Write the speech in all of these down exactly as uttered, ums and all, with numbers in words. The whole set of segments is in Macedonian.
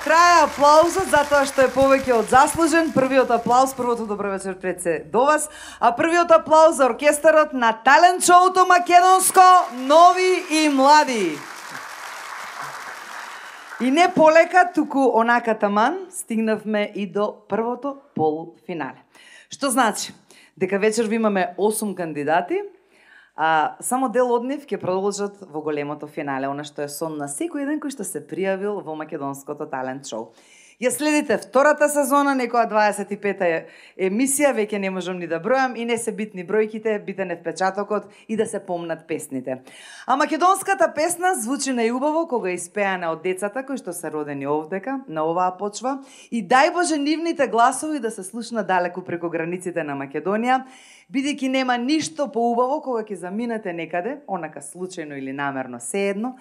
Трае аплаузот затоа што е повеќе од заслужен. Првиот аплауз, првото добро вечер пред се до вас, а првиот аплауз за оркестарот на талент шоуто македонско Нови и млади. И не полека, туку онака таман, стигнавме и до првото полуфинале. Што значи? Дека вечер ви имаме осум кандидати, а само дел од нив ќе продолжат во големото финале, она што е сон на секој еден кој што се пријавил во македонското талент шоу. Ја следите втората сезона, некоја дваесет и пета емисија, веќе не можам ни да бројам и не се битни бројките, битен е впечатокот и да се помнат песните. А македонската песна звучи најубаво кога е испеана од децата кои што се родени овдека, на оваа почва, и дај Боже нивните гласови да се слушна далеку преку границите на Македонија, бидејќи нема ништо поубаво кога ќе заминете некаде, онака случајно или намерно, seедно,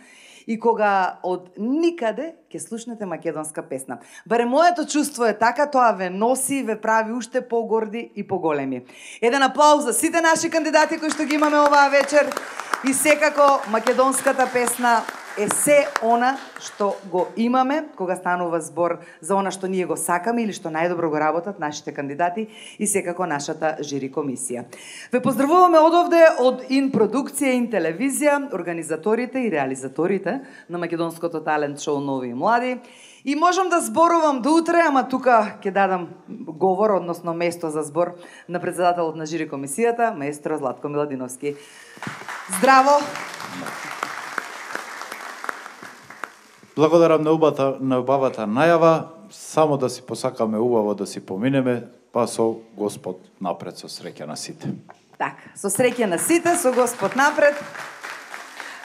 и кога од никаде ќе слушнете македонска песна. Барем моето чувство е така, тоа ве носи и ве прави уште погорди и поголеми. Еден аплауз за сите наши кандидати кои што ги имаме оваа вечер и секако македонската песна е се она што го имаме кога станува збор за она што ние го сакаме или што најдобро го работат нашите кандидати и секако нашата жири комисија. Ве поздравуваме одовде од Ин продукција, Ин телевизија, организаторите и реализаторите на македонското талент шоу Нови и млади. И можам да зборувам до утре, ама тука ќе дадам говор, односно место за збор на председателот на жири комисијата, маестро Златко Миладиновски. Здраво! Благодарам на убавата, на убавата најава, само да си посакаме убаво да си поминеме, па со Господ напред, со среќа на сите. Така, со среќа на сите, со Господ напред.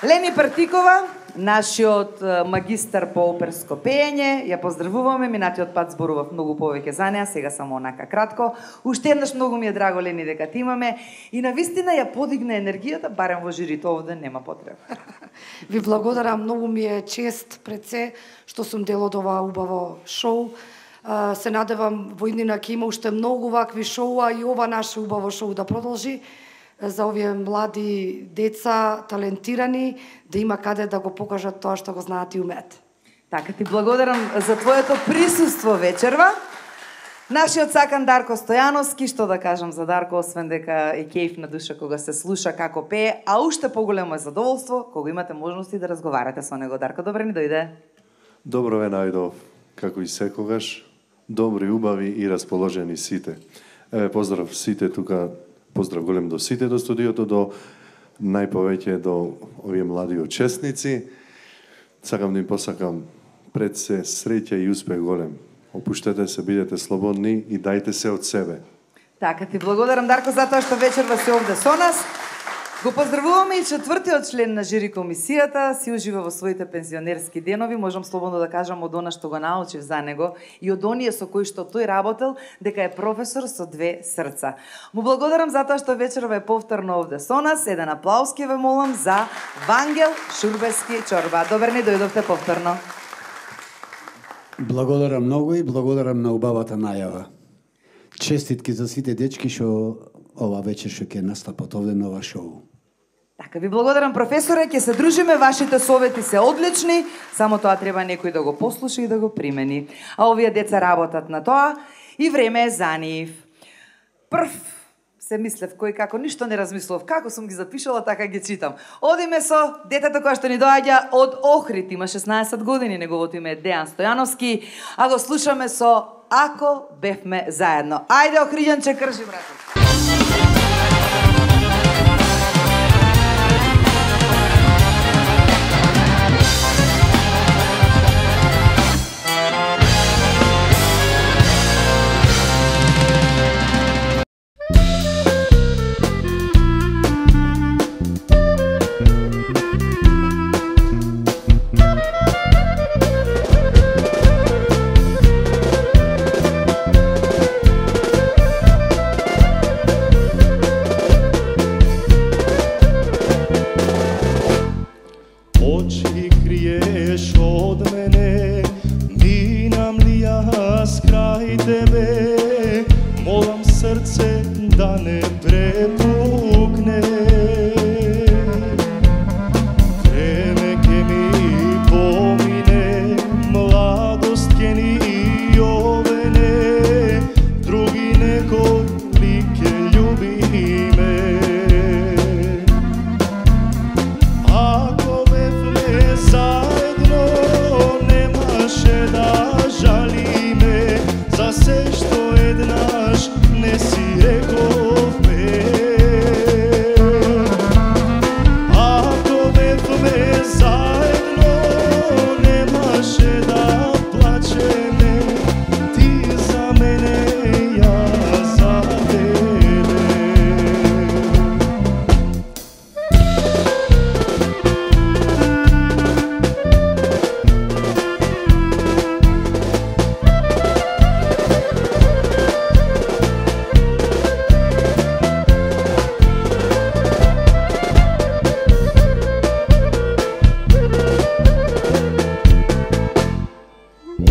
Лени Партикова, нашиот магистар по оперско пеење, ја поздравуваме, минатиот пат зборував многу повеќе за неа, сега само онака кратко. Уште еднаш многу ми е драго, Лени, дека ти имаме и навистина ја подигна енергијата, барем во жирито овде нема потреба. Ви благодарам, многу ми е чест пред се што сум дел од ова убаво шоу. Се надевам во иднина ќе има уште многу вакви шоуа и ова наше убаво шоу да продолжи за овие млади деца, талентирани, да има каде да го покажат тоа што го знаат и умеат. Така, ти благодарам за твоето присуство вечерва. Нашиот сакан Дарко Стојановски, што да кажам за Дарко, освен дека е кејф на душа кога се слуша како пее, а уште поголемо е задоволство кога имате можности да разговарате со него. Дарко, добре ни дојде. Добро ве најдов, како и секогаш, добри, убави и расположени сите. Еве, поздрав сите тука, поздрав голем до сите до студиото, до најповеќе до овие млади учесници. Сакам да им посакам пред се среќа и успех голем. Опуштете се, бидете слободни и дајте се од себе. Така, ти благодарам, Дарко, за тоа што вечерва си овде со нас. Го поздравуваме и четвртиот член на жири комисијата, си ужива во своите пензионерски денови, можам слободно да кажам од она што го научив за него и од оние со кои што тој работел, дека е професор со две срца. Му благодарам за тоа што вечерва е повторно овде со нас. Еден аплауз ке ве молам за Вангел Шурбески Чорба. Добре ни дојдовте повторно. Благодарам многу и благодарам на убавата најава. Честитки за сите дечки што ова вечер што ќе настапат овде на ова шоу. Така, ви благодарам, професоре, ќе се дружиме, вашите совети се одлични, само тоа треба некој да го послуша и да го примени. А овие деца работат на тоа и време е за нив. Прв се мислев кој како, ништо не размислов, како сум ги запишала, така ги читам. Одиме со детето која што ни доаѓа од Охрид, има шеснаесет години, неговото име е Дејан Стојановски, а го слушаме со Ако бевме заедно. Ајде, Охриѓанче, крши, брате. заедно, немаше да плачеме, ти за мене, јас за тебе.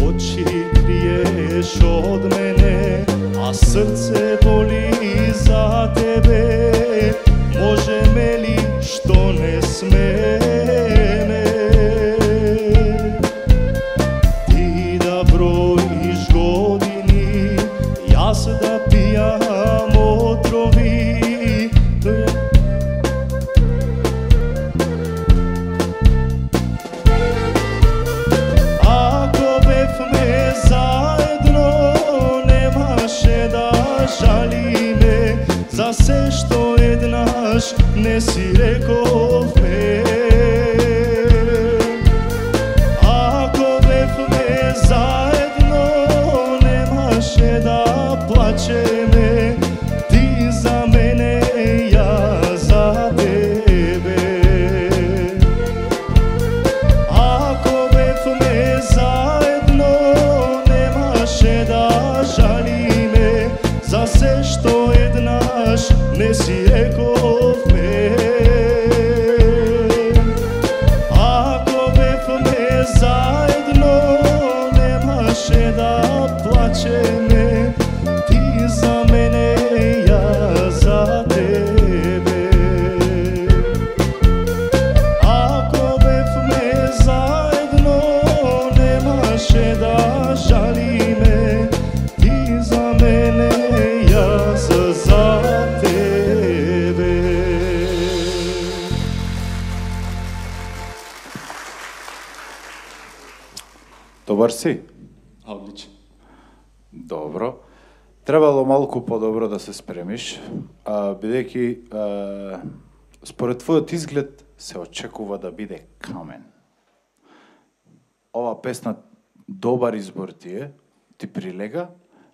Очи криеш од мене, а срце боли за тебе. Можеме ли што не смене? Ти да броиш години, јас да пијам отрови. Ако бевме заедно, немаше да жалиме за се што еднаш не си рековме. Ако бевме заедно, немаше да плачеме, ти за мене, јас за тебе. Ако бевме заедно, немаше да жалиме за се што еднаш не си рековме. Ако бевме заедно, немаше да плачеме, ти за мене, јас за тебе. Ако бевме заедно, немаше да жалиме, ти за мене, јас за тебе. Добар си? Одлично. Добро. Требало малку подобро да се спремиш, а, бидејќи а, според твојот изглед се очекува да биде камен. Ова песна добар избор ти е, ти прилега,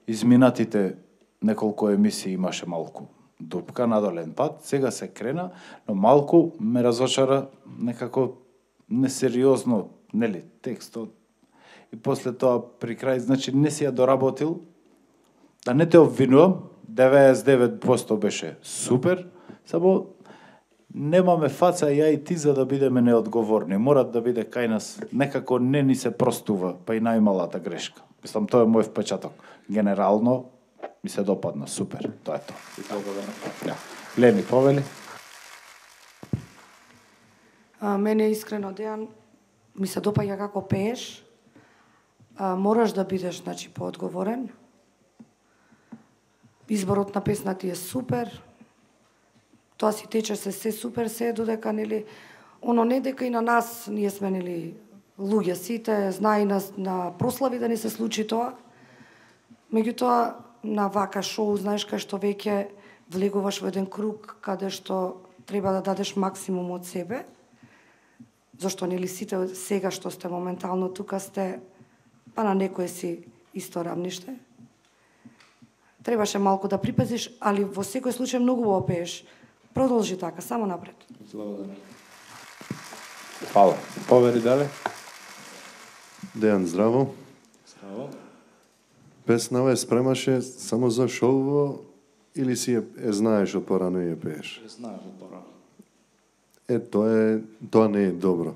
изминатите неколку емисии имаше малку дупка, надолен пат, сега се крена, но малку ме разочара некако несериозно, нели, текстот. И после тоа при крај, значи не си ја доработил, да не те обвинувам, деветдесет и девет проценти беше супер, само немаме фаца ја и ти за да бидеме неодговорни. Мора да биде кај нас, некако не ни се простува, па и најмалата грешка. Мислам, тоа е мој впечаток. Генерално ми се допадна, супер, тоа е тоа. Да. Лени, повели? А, мене искрено, Дејан, ми се допаѓа како пееш. А, мораш да бидеш, значи, поодговорен. Изборот на песна ти е супер. Тоа си тече се се супер, се додека, нели, оно не дека и на нас ние сме, нели, луѓе сите, знае на, на прослави да не се случи тоа. Меѓутоа, на вака шоу, знаеш, кај што веќе влегуваш во еден круг, каде што треба да дадеш максимум од себе, зашто, нели, сите сега што сте моментално тука сте, па на некој си исто рамниште. Требаше малку да припазиш, али во секој случај многу убаво пееш. Продолжи така, само напред. Фала. Повери дале. Дејан, здраво. Здраво. Песнава е спремаше само за шоуво или си е, е знаеш од порано и ја пееш? Знаеш од порано. Е, тоа е, тоа не е добро.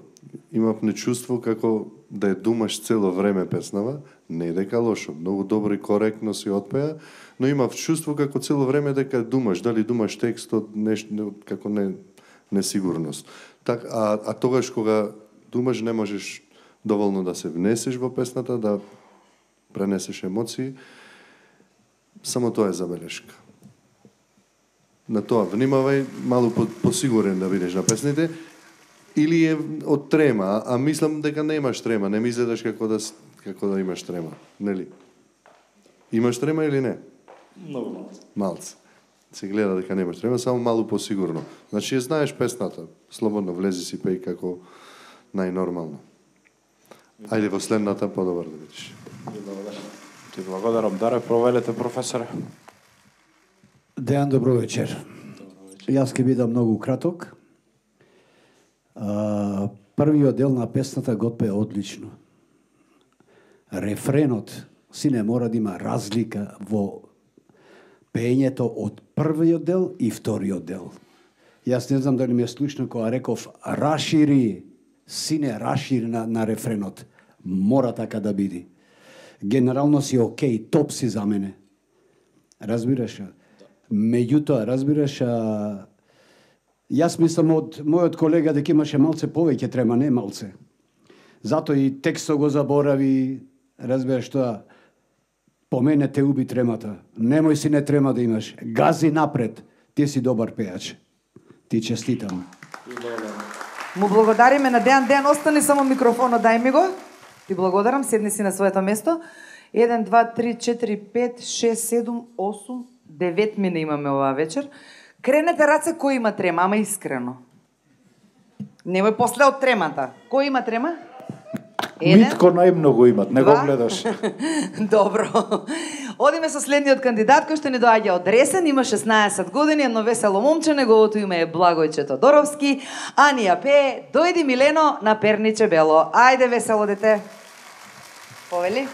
Имав нечувство како да ја думаш цело време песнава, не е дека лошо, многу добро и коректно си отпеа, но имав чувство како цело време дека думаш, дали думаш текстот, нешто како не несигурност. Так, а, а тогаш кога думаш не можеш доволно да се внесеш во песната, да пренесеш емоции, само тоа е забелешка. На тоа внимавај, малку по, посигурен да бидеш на песните, или е од трема, а мислам дека немаш трема, не ми изгледаш како да, како да имаш трема, нели? Имаш трема или не? Многу малце. Малце. Се гледа дека немаш трема, само малку посигурно. Значи, ја знаеш песната, слободно влези си пеј како најнормално. Ајде во следната подобар да видиш. Ти благодарам, Даре, провелете професоре. Дејан, добро вечер. Јас ќе бидам многу краток. А, првиот дел на песната го отпее одлично. Рефренот си не мора да има разлика во пеењето од првиот дел и вториот дел. Јас не знам дали ми е слушно кога реков рашири, сине рашири на, на рефренот. Мора така да биде. Генерално си окей, топ си за мене. Разбираш? Меѓутоа, разбираш, а... јас мислам од мојот колега дека имаше малце повеќе трема, не малце. Зато и текстот го заборави, разбираш тоа, по мене те уби тремата. Немој си не трема да имаш. Гази напред, ти си добар пејач. Ти честитам. Му благодариме на Дејан. Дејан, остани само микрофонот, дај ми го. Ти благодарам, седни си на своето место. еден, два, три, четири, пет, шест, седум, осум, девет мина имаме оваа вечер. Кренете раце кој има трема, ама искрено. Немој после од тремата. Кој има трема? Еден. Митко најмногу имат, не го Два. гледаш. Добро. Одиме со следниот кандидат кој што ни доаѓа од Ресен, има шеснаесет години, едно весело момче, неговото име е Благојче Тодоровски, а ни ја пее Дојди Милено на Перниче Бело. Ајде весело дете. Повели?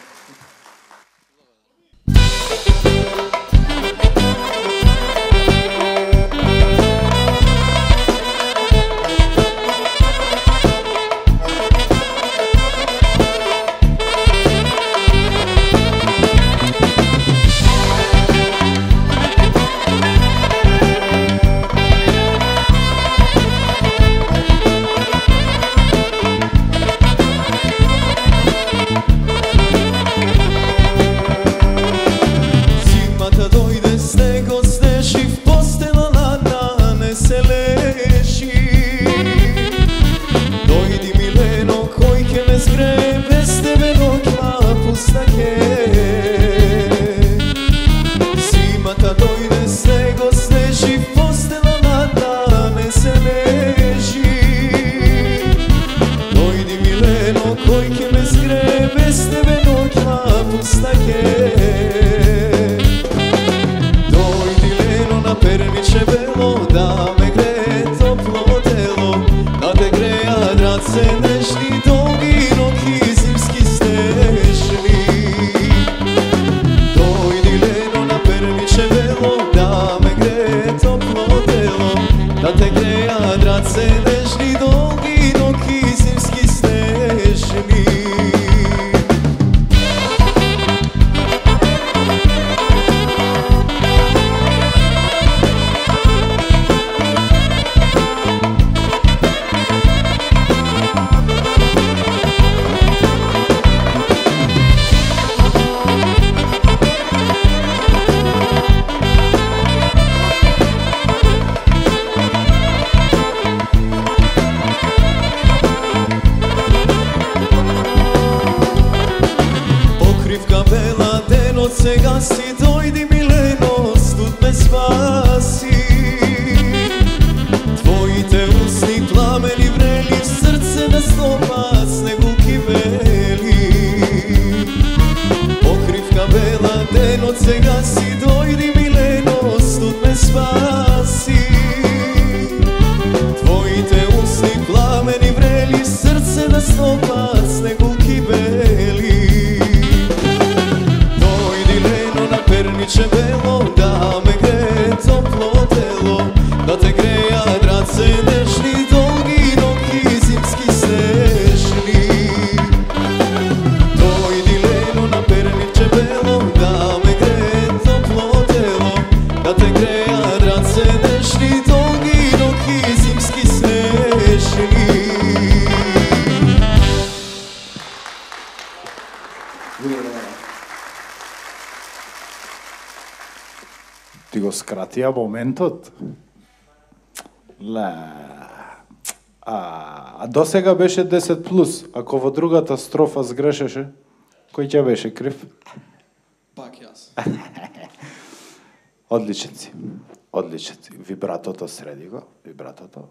Ти го скратија моментот. Ле. А, а до сега беше десет плюс. Ако во другата строфа сгрешеше, кој ќе беше крив? Пак јас. Одличен си. Одличен си. Вибратото среди го, вибратото.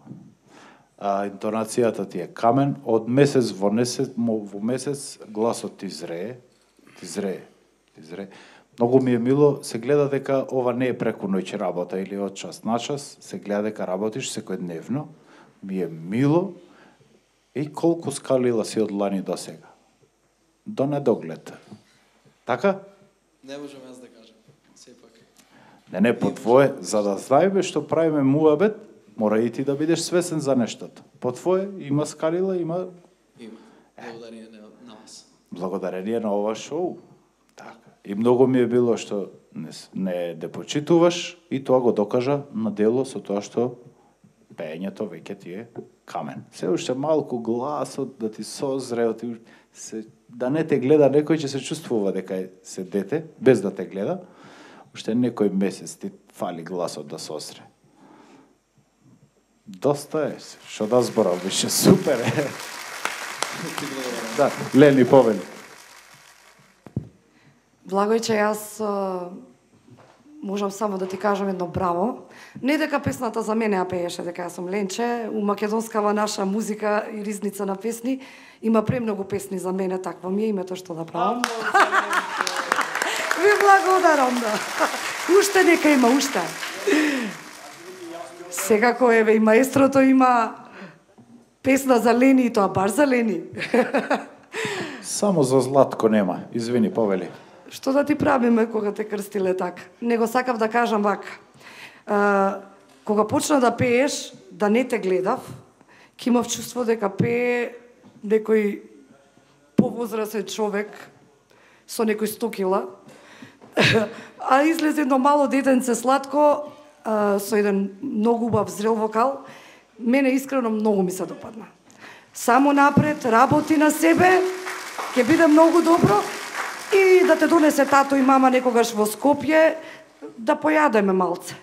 а интонацијата ти е камен, од месец во месец, во месец гласот ти зрее, ти зрее, ти зрее. Многу ми е мило, се гледа дека ова не е преку ноќ работа или од час на час, се гледа дека работиш секојдневно. Ми е мило и колку скалила си од лани до сега. До недоглед. Така? Не можам јас да кажам, сепак. Не, не, по твое, за да знаеме што правиме муабет, мора и ти да бидеш свесен за нештото. По твое, има скалила, има... Има. Благодарение на вас. Благодарение на ова шоу. Така. И многу ми е било што не, не де почитуваш и тоа го докажа на дело со тоа што пеењето веќе ти е камен. Се уште малку гласот да ти созре, да, ти се, да не те гледа некој, ќе се чувствува дека се дете, без да те гледа. Уште некој месец ти фали гласот да созре. Доста е, што да зборам, више супер е. Да, Лени, повели. Благојче, јас а, можам само да ти кажам едно браво. Не дека песната за мене ја пееше, дека јас сум Ленче, у македонскава наша музика и ризница на песни има премногу песни за мене, такво ми е името што да правам. Ви благодарам, да. Уште нека има, уште. Секако еве и маестрото има песна за Лени и тоа баш за Лени. Само за Златко нема. Извини, повели. Што да ти правиме кога те крстиле така? Него сакав да кажам вака. А, кога почна да пееш, да не те гледав, ќе имав чувство дека пее некој повозрасен човек со некој сто кила, а излезе едно мало детенце сладко, а, со еден многу убав зрел вокал. Мене искрено многу ми се допадна. Само напред, работи на себе, ќе биде многу добро и да те донесе тато и мама некогаш во Скопје да појадеме малце.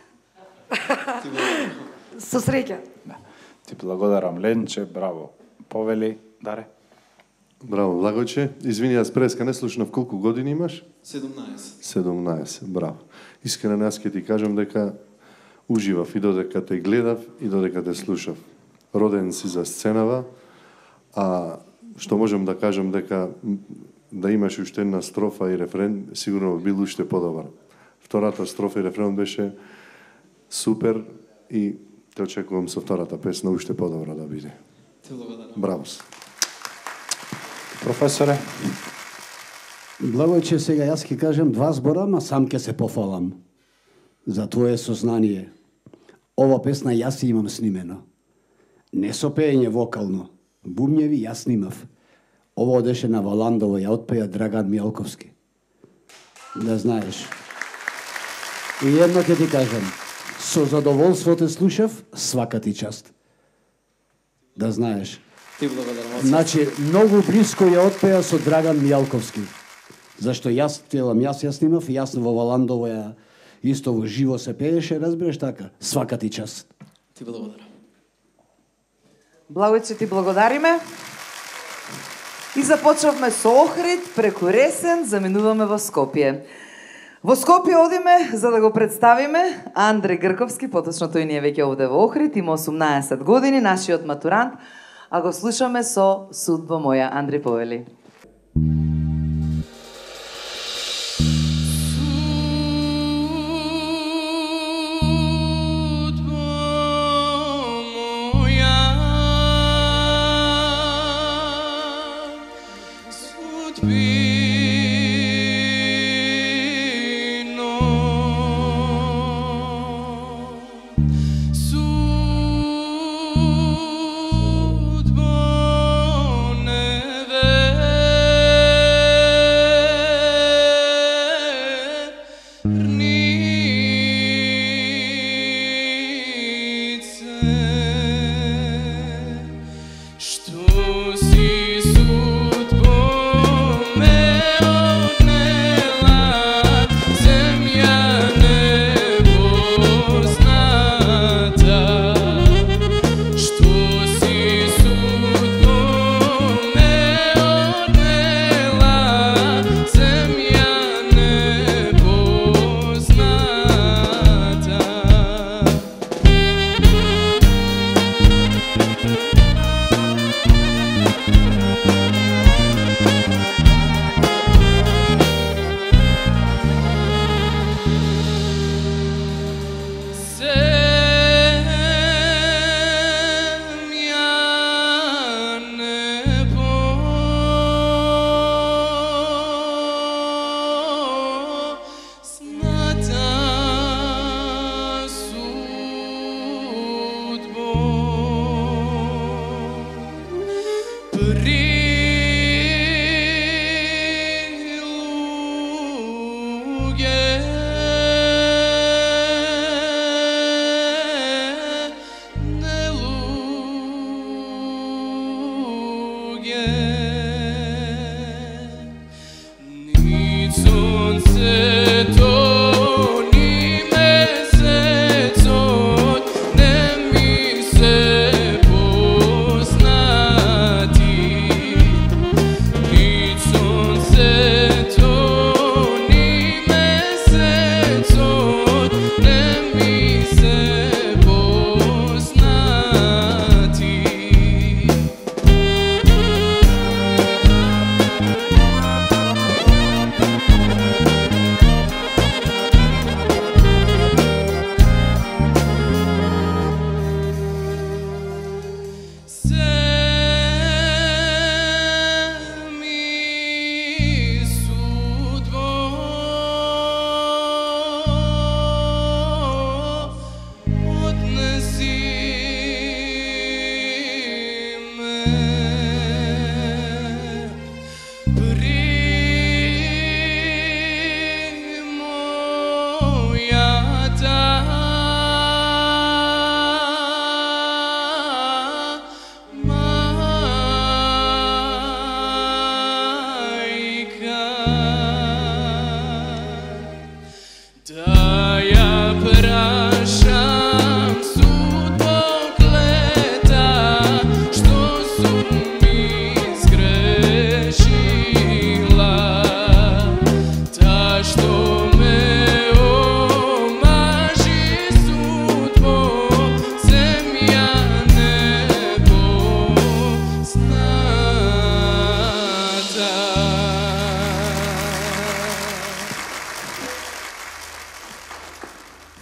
Со среќа. Да. Ти благодарам, Ленче, браво. Повели, Даре. Браво, Благојче. Извини, јас преска не слушнав колку години имаш? седумнаесет. седумнаесет, браво. Искрено јас ќе ти кажам дека уживав и додека те гледав и додека те слушав. Роден си за сценава, а што можам да кажам дека да имаш уште една строфа и рефрен, сигурно бил уште подобар. Втората строфа и рефрен беше супер и те очекувам со втората песна уште подобра да биде. Те благодарам. Браво. Професоре. Благојче, сега јас ќе кажам два збора, ма сам ќе се пофалам за твое сознание. Ова песна јас имам снимено. Не со пеење вокално, бумњеви јас снимав. Ова одеше на Валандово, ја отпеја Драган Мијалковски. Да знаеш. И едно ќе ти кажам, со задоволство те слушав, свака ти част. Да знаеш. Ти благодарам. Значи, многу близко ја отпеја со Драган Мијалковски. Зашто јас телам, јас ја снимав и јас во Валандово ја исто во живо се пееше, разбираш така? Свака ти част. Ти благодарам. Благојче, ти благодариме. И започнавме со Охрид, преку Ресен, заминуваме во Скопје. Во Скопје одиме за да го представиме Андре Грковски, поточно тој ни е веќе овде во Охрид, има осумнаесет години, нашиот матурант, а го слушаме со Судба моја. Андре, повели. Thank you.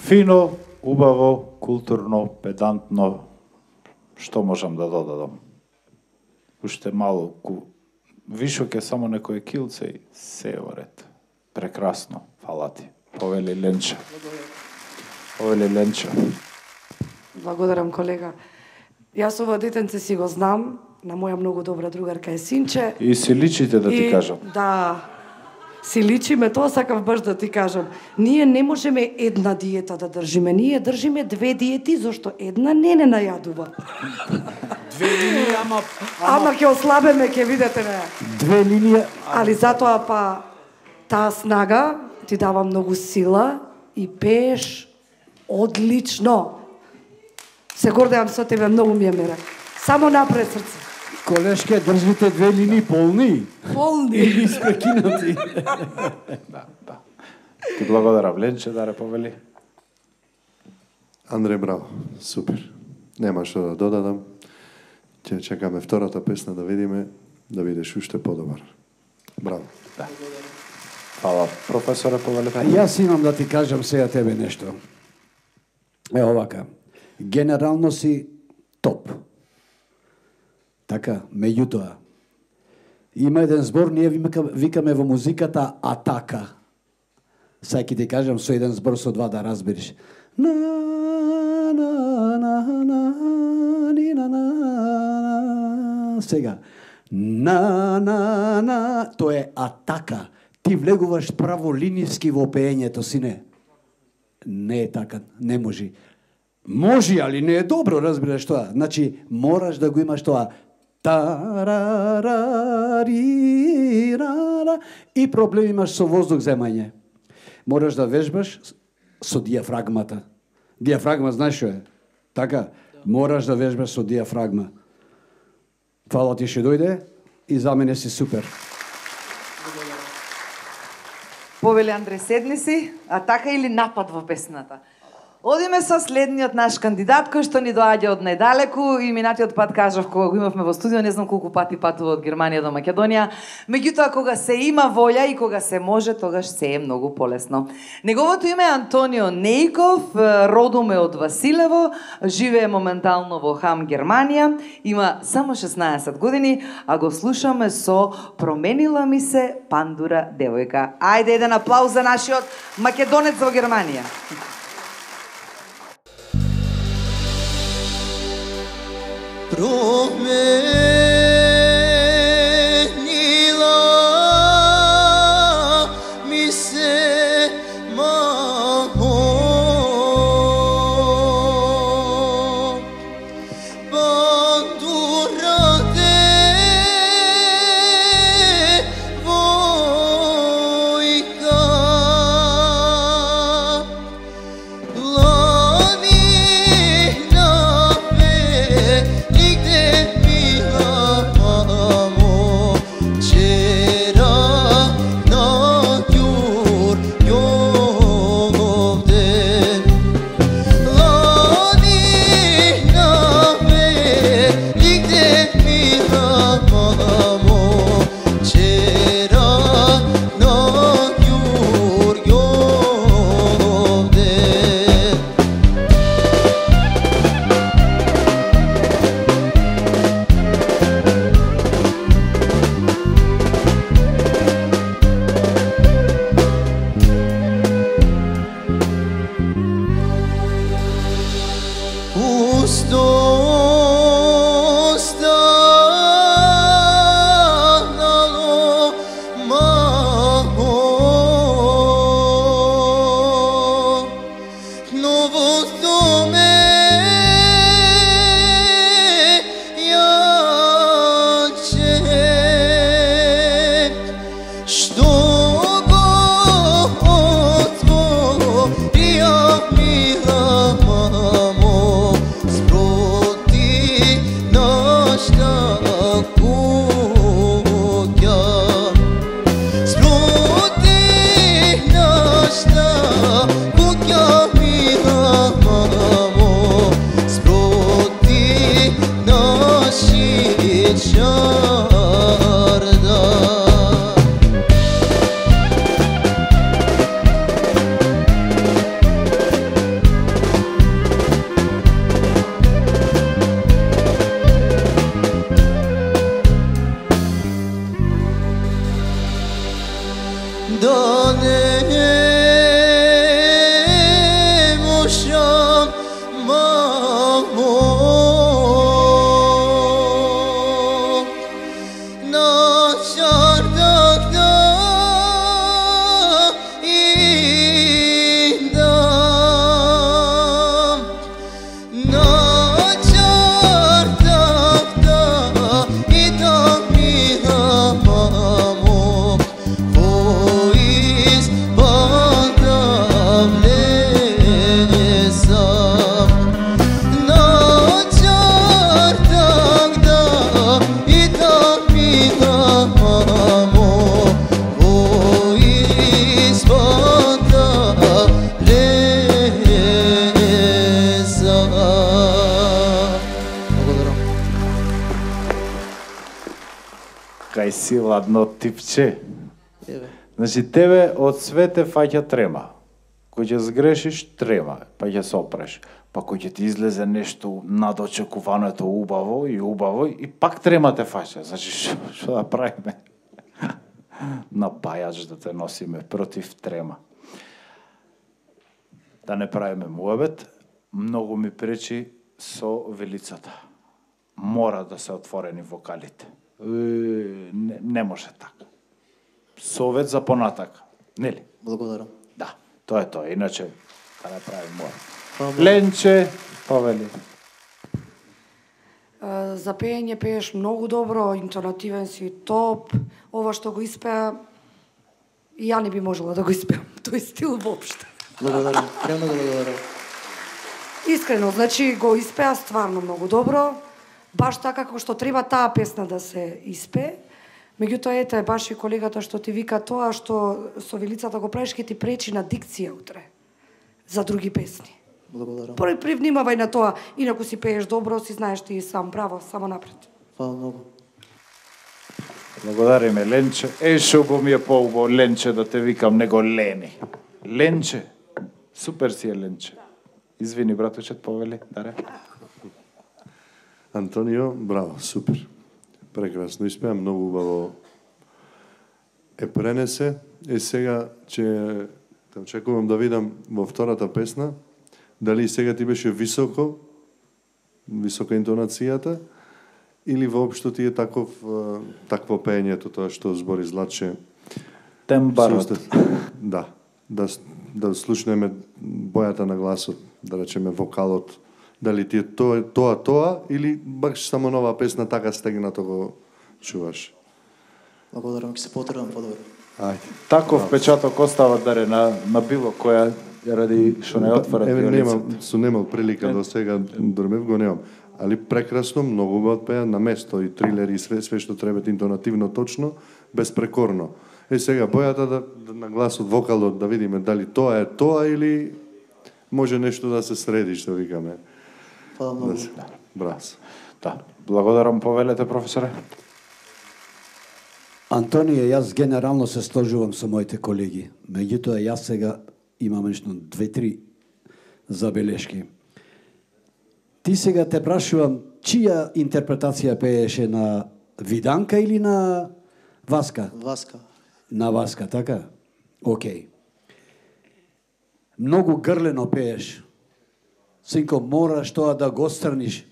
Фино, убаво, културно, педантно, што можам да додадам? Уште малку, вишок е само некој килце и се е во ред. Прекрасно, фала ти. Повели Ленча. Повели Ленча. Благодарам, колега. Јас ова детенце си го знам, на моја многу добра другарка е Синче. И си личите да ти И, кажам. Да, си личиме, тоа сакав баш да ти кажам. Ние не можеме една диета да држиме, ние држиме две диети, зашто една не не најадува. Две линии, ама... Ама ќе ослабеме, ќе видите не. Две линии... Али затоа па таа снага ти дава многу сила и пееш одлично. Се гордеам со тебе, многу ми е мере. Само напред, срце. Колешке, држите две линии полни. Полни. Или испрекинати. Да, да. Ти благодарам, Ленче, да ре повели. Андре, браво, супер. Нема што да додадам. Ќе чекаме втората песна да видиме, да бидеш уште подобар. Браво. Да. Фала, професоре, повели. А јас имам да ти кажам сега тебе нешто. Е овака. Генерално си топ. Така, меѓутоа, има еден збор, ние викаме во музиката атака. Сега ќе ти кажам со еден збор, со два да разбереш. На, на, на, на, ни, на, на, на. Сега. На, на, на. Тоа е атака. Ти влегуваш праволиниски во пеењето, сине. Не е така, не може. Може, али не е добро, разбираш тоа. Значи, мораш да го имаш тоа. Та-ра-ра-ри-ра-ра. И проблем имаш со воздух земање. Мораш да вежбаш со диафрагмата. Диафрагма, знаеш што е? Така? Мораш да вежбаш со диафрагма. Фала ти ще дојде и за мене си супер. Повели Андре, седни си, атака или напад во песната? Одиме со следниот наш кандидат, кој што ни доаѓа од најдалеку, и минатиот пат кажав кога го имавме во студио, не знам колку пати патува од Германија до Македонија, меѓутоа кога се има волја и кога се може, тогаш се е многу полесно. Неговото име е Антонио Нејков, родом е од Василево, живее моментално во Хам, Германија, има само шеснаесет години, а го слушаме со Променила ми се пандура девојка. Ајде еден аплауз за нашиот македонец во Германија. Promenila да не можам, мамо, на чардак да идам, на чардак да идам, мила мамо, поиз бада влезам, на чардак да идам, мила мамо, поиз бада влезам. Благодарам. Кај си ладно типче. Еве. Значи тебе од свете фаќа трема. Кој ќе сгрешиш, трема, па ќе се опреш. Па кој ќе ти излезе нешто над очекуваното убаво и убаво и пак трема те фаќа. Значи што што да правиме? На пајач да те носиме против трема. Да не правиме муабет, многу ми пречи со велицата. Мора да се отворени вокалите. Е, Не, не може така. Совет за понатака. Нели? Благодарам. Да, тоа е тоа. Иначе, да не правим мора. Фала. Ленче, повели. А, За пеење пееш многу добро, интонативен си, топ. Ова што го испеа, и ја не би можела да го испеам, тој стил воопште. Благодарам. Премногу благодарам. Искрено, значи го испеа стварно многу добро, баш така како што треба таа песна да се испее. Меѓутоа, ете, баш и колегата што ти вика тоа, што со велицата го правиш, ке ти пречи на дикција утре за други песни. Благодарам. Први привнимавај на тоа, инаку си пееш добро, си знаеш ти и сам, браво, само напред. Фала многу. Благодариме, Ленче. Е, шо го ми е поубаво, Ленче, да те викам, него Лени. Ленче. Супер си е, Ленче. Извини, братучет, повели. Даре. Антонио, браво, супер. Прекрасно испеа, многу убаво е пренесе. Е сега ќе те очекувам да видам во втората песна дали сега ти беше високо, висока интонацијата или воопшто ти е таков е, такво пеењето, тоа што збори Златче. Тембарот. Да, да с- да слушнеме бојата на гласот, да речеме вокалот. Дали ти е тоа, тоа, тоа или баш само нова песна така стегнато го чуваш? Благодарам, ќе се потрудам подобро. Ајде. Таков печаток остава, Даре, на, на било која, ради што не отвора Еве пионицата. немам, сум немал прилика до сега, дормев го немам. Али прекрасно, многу убаво пеа на место и трилери и све, све што треба интонативно точно, безпрекорно. Е сега бојата да, да на гласот, вокалот да видиме дали тоа е тоа или може нешто да се среди, што викаме. Фала многу. Да се. Браво. Да. Благодарам, повелете, професоре. Антонија, јас генерално се сложувам со моите колеги. Меѓутоа, јас сега имам нешто две-три забелешки. Ти сега те прашувам, чија интерпретација пееше на Виданка или на Васка? Васка. На Васка, така? Океј. Многу грлено пееш. Синко, мораш тоа да го страниш.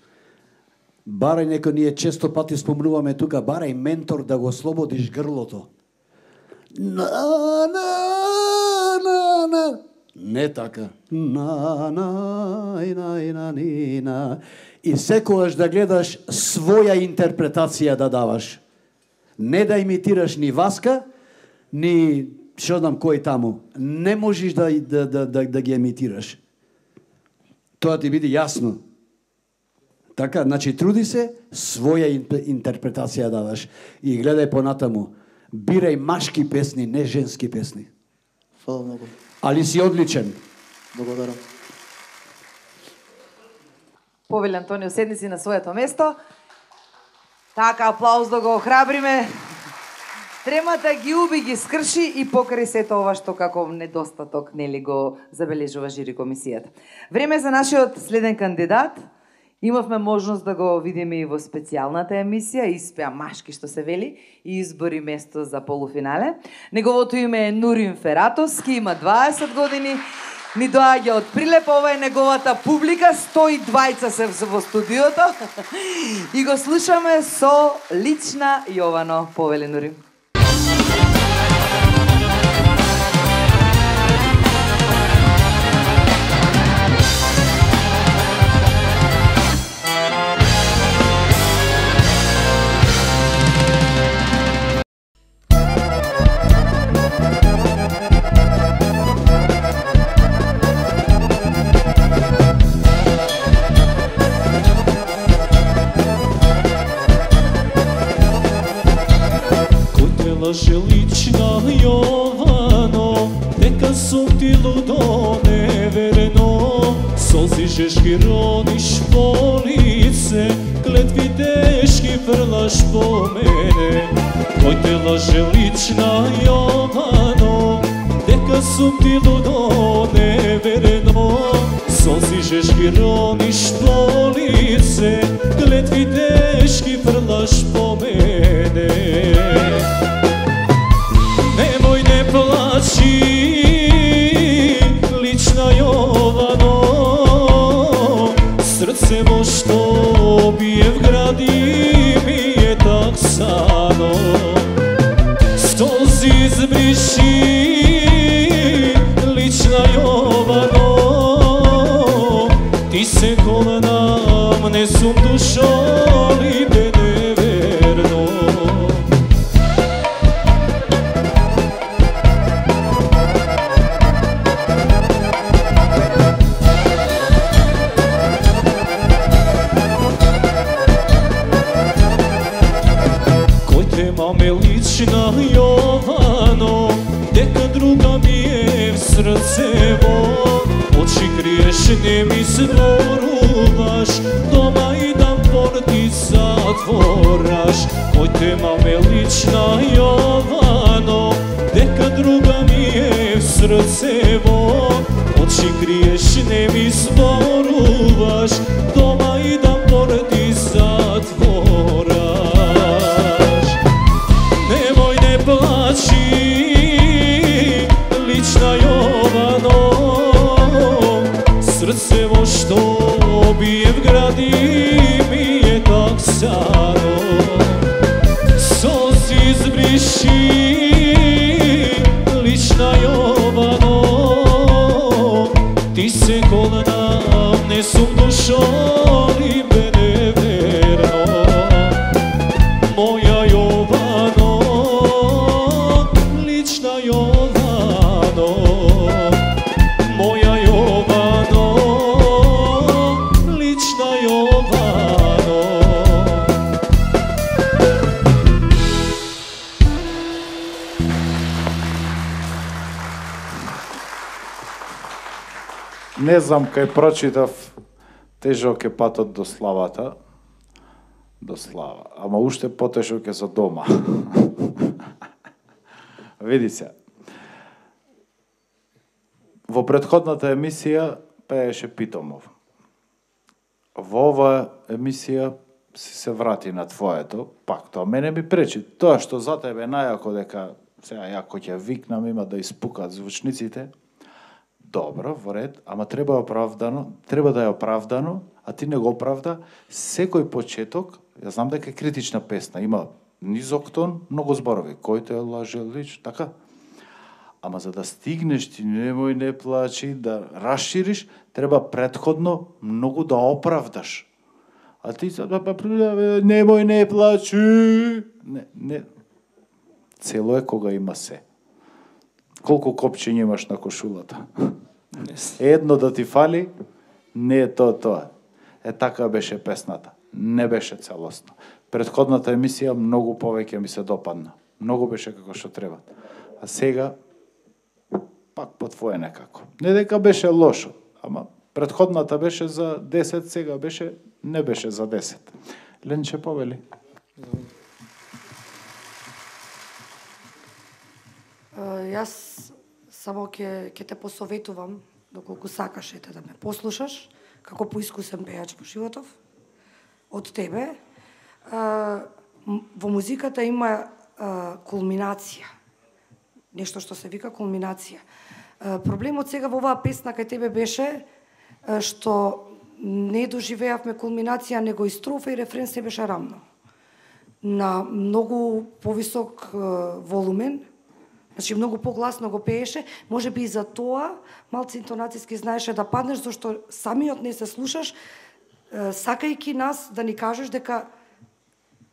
Барај некој, ние често пати спомнуваме тука, барај ментор да го слободиш грлото. На, на, на, на. Не така. На, на, и на, и на, и на. И секогаш да гледаш своја интерпретација да даваш. Не да имитираш ни Васка, ни што знам кој таму. Не можеш да, да, да, да, да ги имитираш. Тоа ти биде јасно. Така, значи труди се своја интерпретација да дадаш и гледај понатаму. Бирај машки песни, не женски песни. Фала многу. Али си одличен. Благодарам. Повели Антонио, седни си на своето место. Така, аплауз да го охрабриме. Тремата ги уби, ги скрши и покрај сето ова што како недостаток нели го забележува жири комисијата. Време е за нашиот следен кандидат Имавме можност да го видиме и во специјалната емисија, испеа Машки што се вели и избори место за полуфинале. Неговото име е Нурин Фератовски, има дваесет години, ни доаѓа од Прилеп, ова е неговата публика, сто и дваесет се во студиото и го слушаме со Лична Јовано. Повели Нурин. Лаже лична Јовано, дека сум ти лудо неверено. Солзи жешки рониш по лице, клетви тешки фрлаш по мене. Кој те лаже лична Јовано, дека сум ти лудо неверено. Солзи жешки рониш по лице, клетви тешки фрлаш по мене. Немој не плачи, лична Јовано, срце мо што бие в гради ми е таксано. Солзи избриши, лична Јовано, ти се коленам не сум душо ли бе неверно. Маме лична Јовано, дека друга ми е в срцево. Очи криеш, не ми зборуваш, дома идам порти затвораш. Кој те маме лична Јовано, дека друга ми е в срцево. Очи криеш, не ми зборуваш, дома идам порти затвораш. Плачи, лична Јовано, срцево што бие в гради ми е таксано. Солзи избриши, лична Јовано, ти се коленам не сум душо ли бе неверно. Моја Јовано, Јовано, моја Јовано, лична Јовано. Не знам, кај прочитав, тежок е патот до славата, до слава, ама уште потежок е за дома. Види се. Во претходната емисија пееше Питомов. Во оваа емисија си се врати на твоето, пак тоа мене ми пречи. Тоа што за тебе најако дека сега ја кој ќе викнам има да испукат звучниците. Добро, во ред, ама треба оправдано, треба да е оправдано, а ти не го оправда. Секој почеток, ја знам дека е критична песна, има низок тон, многу зборови. Кој те лаже лич, така? Ама за да стигнеш ти, немој не плачи, да расшириш, треба предходно многу да оправдаш. А ти немој не плачи. Не, не. Цело е кога има се. Колку копчиња имаш на кошулата? Едно да ти фали, не е тоа тоа. Е така беше песната. Не беше целосно. Предходната емисија многу повеќе ми се допадна. Многу беше како што треба. А сега пак по твое некако. Не дека беше лошо, ама предходната беше за десет, сега беше не беше за десет. Ленче повели. Јас само ќе ќе те посоветувам, доколку сакаш ете да ме послушаш, како поискусен пејач во животов, од тебе. А, во музиката има а, кулминација. Нешто што се вика кулминација. А, проблемот сега во оваа песна кај тебе беше а, што не доживеавме кулминација, него и строфа и рефрен се беше рамно. На многу повисок а, волумен, значи многу погласно го пееше, може би и за тоа малце интонацијски знаеше да паднеш, зашто самиот не се слушаш, а, сакајќи нас да ни кажеш дека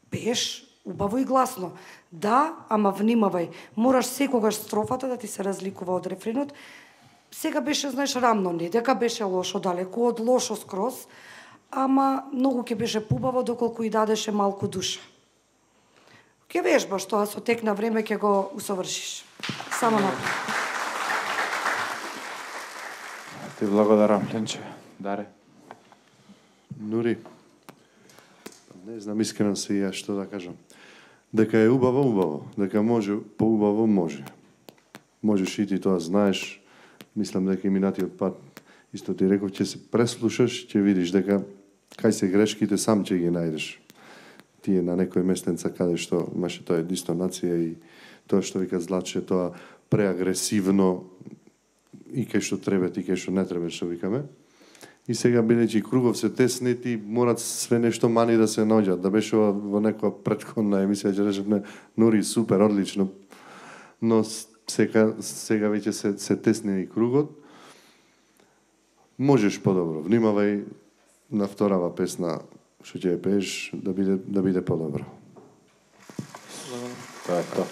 пееш убаво и гласно. Да, ама внимавај, мораш секогаш строфата да ти се разликува од рефренот. Сега беше, знаеш, рамно, не дека беше лошо, далеку од лошо скроз, ама многу ќе беше побаво доколку и дадеше малку душа. Ќе вежбаш тоа, со тек на време ќе го усовршиш. Само напред. Ти благодарам, Ленче. Даре. Нури, не знам, искрено се и ја што да кажам. Дека е убаво, убаво. Дека може, поубаво може. Можеш и ти тоа знаеш. Мислам дека и минатиот пат, исто ти реков, ќе се преслушаш, ќе видиш дека кај се грешките сам ќе ги најдеш. Тие на некој местенца каде што имаше тоа дистонација и тоа што вика Златче, тоа преагресивно и кај што треба, и кај што не треба, што викаме. И сега, бидејќи кругов се тесни, ти морат све нешто мани да се наоѓаат. Да беше во некоја претходна емисија, ќе речеме, Нури, супер, одлично. Но сега, сега веќе се, се тесни и кругот. Можеш подобро. Внимавај на вторава песна, што ќе ја пееш, да биде, да биде подобро. Тоа е тоа.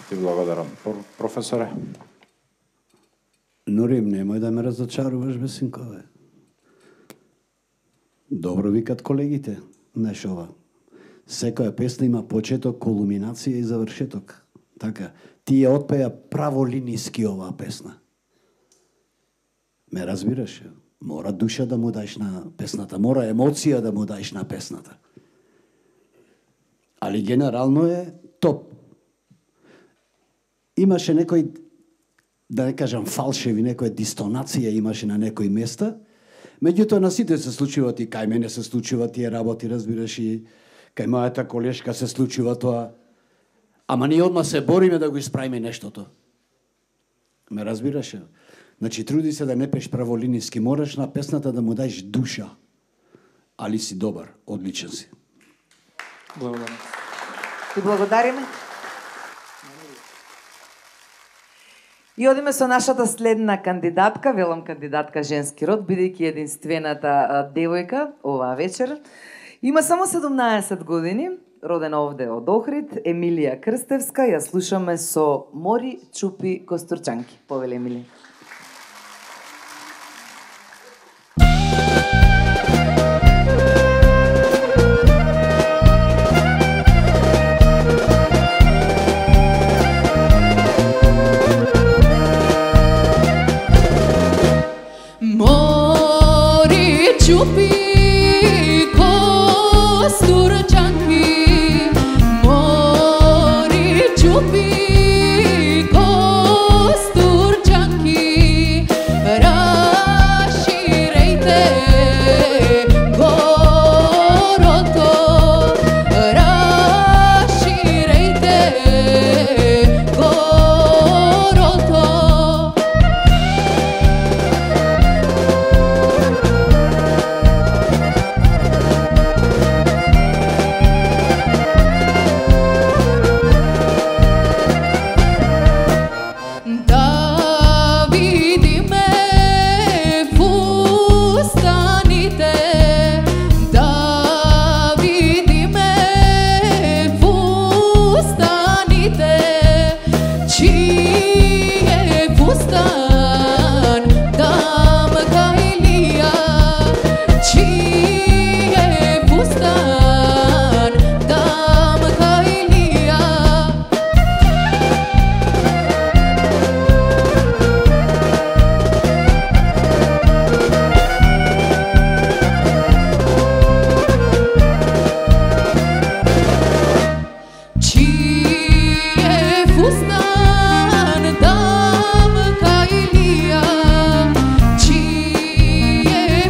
Ти благодарам. Професоре? Нурим, немој да ме разочаруваш, бе, синкове. Добро викат колегите, знаеш ова. Секоја песна има почеток, кулминација и завршеток. Така, тие отпеја праволиниски оваа песна. Ме разбираш? Мора душа да му даеш на песната, мора емоција да му даеш на песната. Али генерално е топ. Имаше некој, да не кажам фалшеви, некоја дистонација имаше на некои места. Меѓутоа на сите се случуваат, и кај мене се случуваат тие работи, разбираш, и кај мојата колешка се случува тоа. Ама ние одма се бориме да го исправиме нештото. Ме разбираш? Значи, труди се да не пеш праволиниски, мораш на песната да му даеш душа. Али си добар, одличен си. Благодарам. Ти благодариме. И одиме со нашата следна кандидатка, велам кандидатка женски род, бидејќи единствената девојка оваа вечер. Има само седумнаесет години, родена овде од Охрид, Емилија Крстевска, ја слушаме со Мори чупи костурчанки. Повеле, Емилија. Čupi kosturčanki, mori čupi kosturčanki, raširejte goroto, raširejte goroto.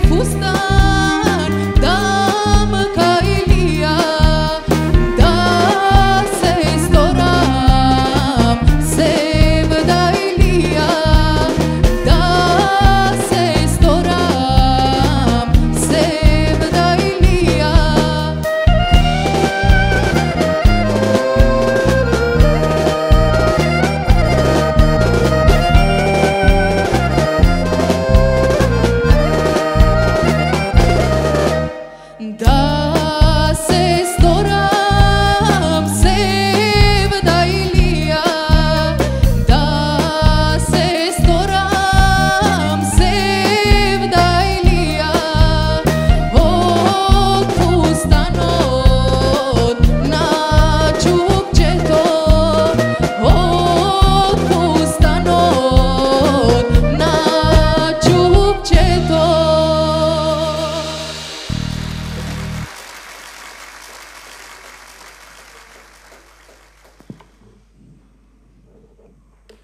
Fustan, dam ca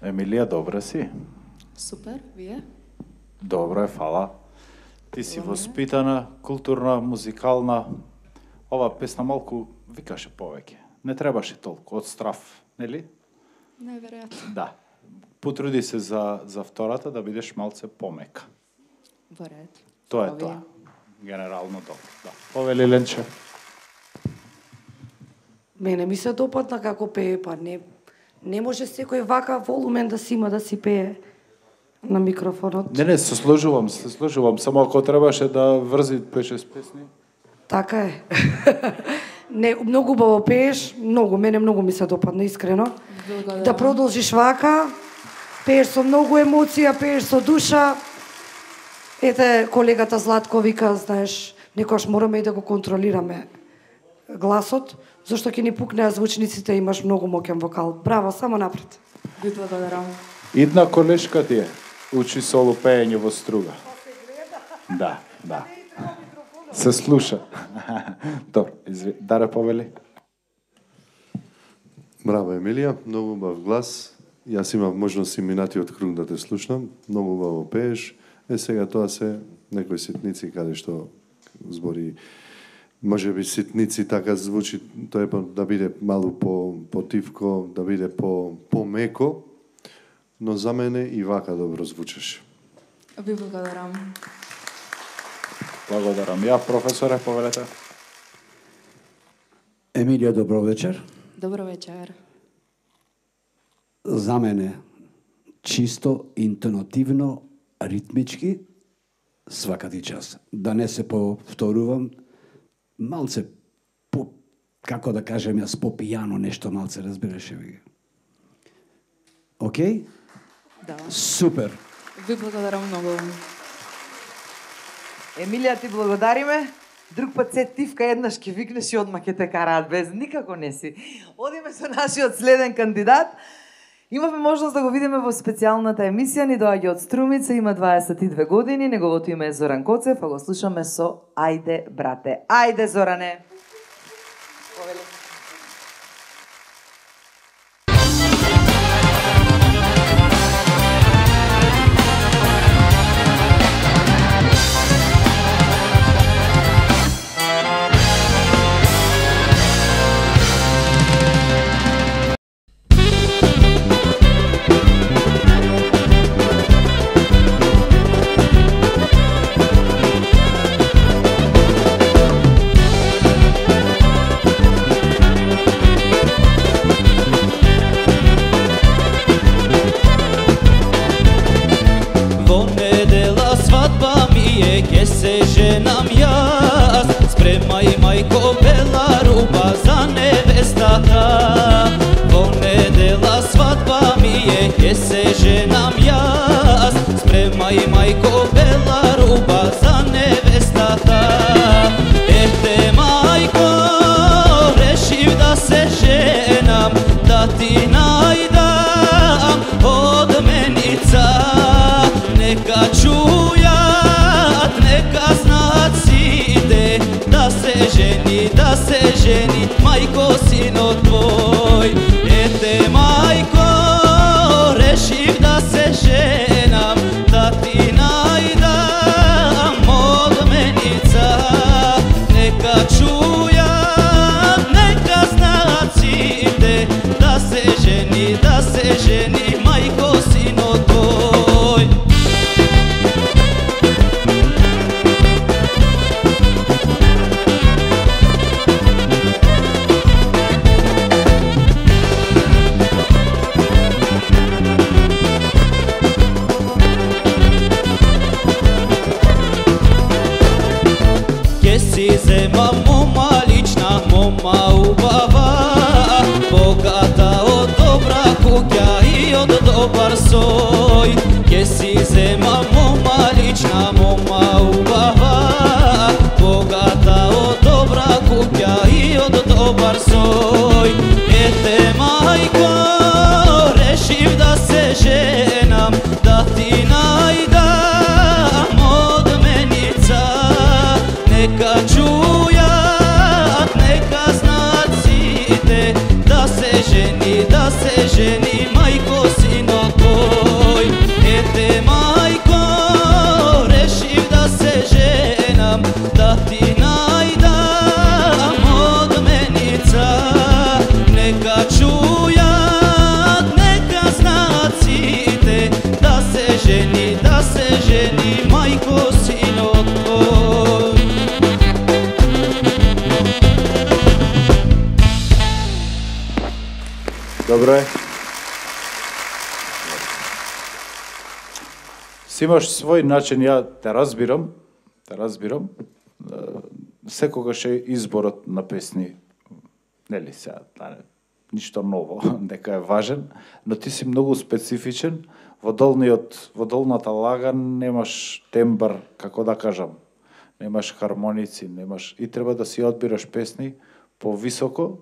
Емилија, добра си? Супер, вие? Добро е, фала. Ти си воспитана, културна, музикална. Ова песна малку викаше повеќе. Не требаше толку, од страв, нели? Најверојатно. Да. Потруди се за, за втората да бидеш малце помека. Во ред. Тоа е Овие. тоа. Генерално добро. Да. Повели Ленче. Мене ми се допадна како пее, па не, не може секој вака волумен да си има да си пее на микрофонот. Не, не, се сложувам, се сложувам. Само ако требаше да врзи пет-шест песни. Така е. Не, многу убаво пееш, многу, мене многу ми се допадна, искрено. Благодарам. Да продолжиш вака, пееш со многу емоција, пееш со душа. Ете, колегата Златко вика, знаеш, некојаш мораме и да го контролираме гласот, зашто ќе ни пукнеа звучниците, имаш многу моќен вокал. Браво, само напред. Ви благодарам. Идна колешка ти е. Учи соло пеење во струга. Да, да. Се слуша. Добро, изви... Даре повели. Браво, Емилија, многу убав глас. Јас имав можност и минатиот круг да те слушнам. Многу убаво пееш. Е, сега тоа се некои ситници каде што збори, може би ситници така звучи, тоа е да биде малку по потивко, да биде по помеко, но за мене и вака добро звучеше. Ви благодарам. Благодарам. Ја, професоре, повелете. Емилија, добро вечер. Добро вечер. За мене чисто, интонативно, ритмички, свакати час. Да не се повторувам, малце по, како да кажем јас, по пијано нешто малце, разбираше ви. Океј? Да. Супер. Ви благодарам многу. Емилија, ти благодариме. Друг пат се тивка еднаш ќе викнеш и одма ќе те караат без никако не си. Одиме со нашиот следен кандидат. Имавме можност да го видиме во специјалната емисија, ни доаѓа од Струмица, има дваесет и две години, неговото име е Зоран Коцев, а го слушаме со Ајде, брате. Ајде, Зоране. Повели. Da se ženi, majko, sino Добро е. Си имаш свој начин, ја те разбирам, те разбирам. Секогаш е изборот на песни, нели сега, ништо ново, дека е важен, но ти си многу специфичен. Во долниот, во долната лага немаш тембар, како да кажам, немаш хармоници, немаш и треба да си одбираш песни повисоко.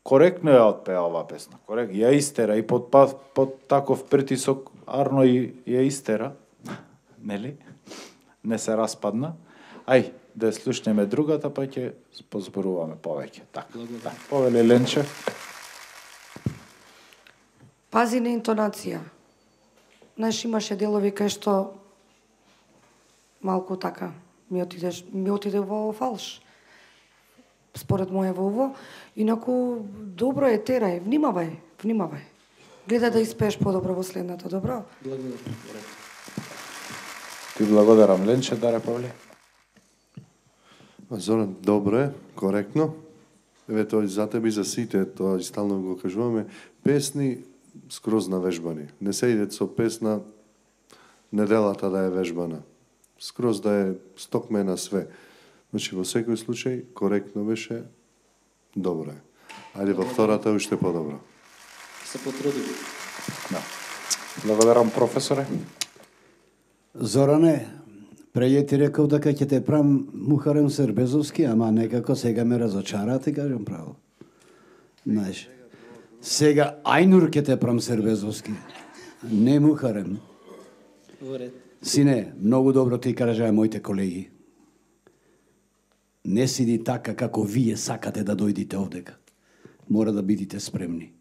Коректно ја отпеа оваа песна. Корект, ја истера и под под таков притисок Арно и ја истера. Нели? Не се распадна. Ај, да ја слушнеме другата, па ќе позборуваме повеќе. Така. Так, повели Ленче. Пази на интонација. Знаеш, имаше делови кај што малку така ми отидеш, ми отиде во фалш. Според моје во ово, инаку добро е, терај, внимавај, внимавај. Гледа да испееш подобро во следната, добро? Благодарам. Ти благодарам, Ленче, Даре Павле. Зоран, добро е, коректно. Еве тоа за тебе и за сите, тоа и стално го кажуваме. Песни скроз навежбани. Не се иде со песна неделата да е вежбана. Скроз да е стокме на све. Значи, во секој случај, коректно беше, добро е. Ајде во втората уште подобро. Се потруди. Да. Благодарам, професоре. Зоране, преје ти реков дека ќе те прам Мухарем Сербезовски, ама некако сега ме разочара, ти кажам право. Знаеш, сега Ајнур ќе те прам Сербезовски, не Мухарем. Во ред. Сине, многу добро ти кажаа моите колеги. Не сиди така како вие сакате да дојдите овдека. Мора да бидите спремни.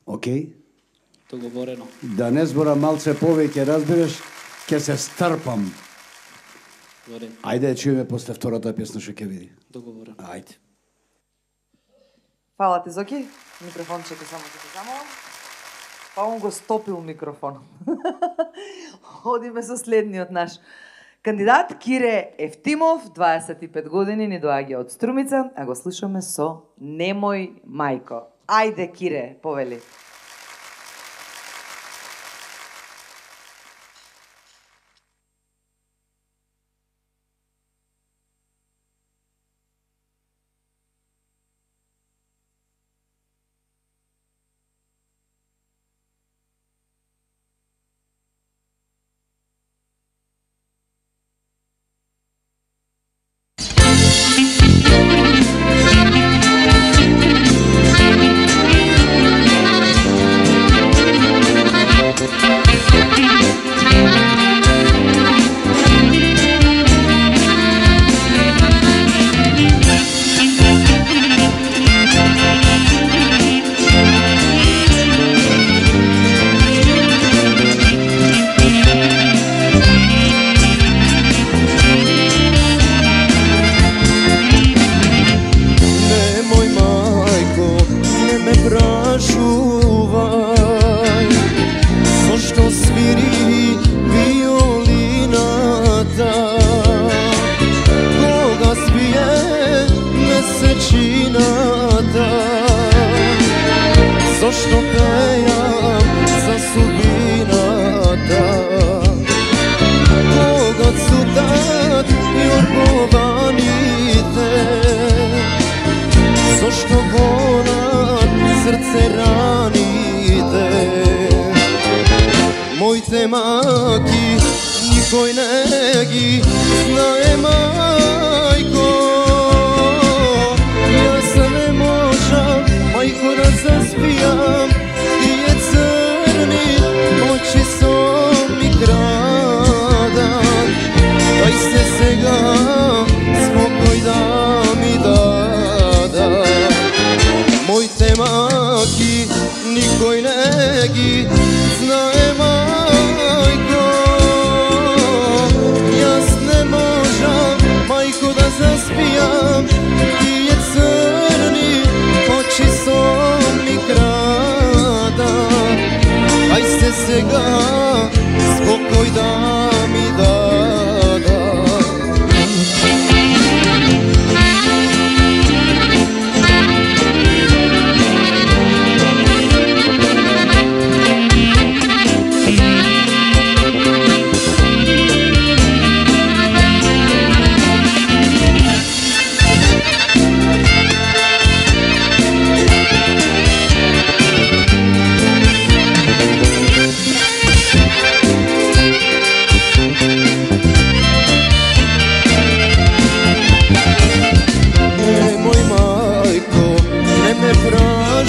Океј? Договорено. Да не зборам малце повеќе, разбираш, ќе се стрпам. Во ред. Ајде, чуеме после втората песна што ќе види. Договорено. Ајде. Фала ти, Зоки. Микрофончето само ќе ти замолам. Па он го стопил микрофон. Одиме со следниот наш кандидат, Кире Ефтимов, дваесет и пет години, ни доаѓа од Струмица, а го слушаме со Немој мајко. Ајде, Кире, повели.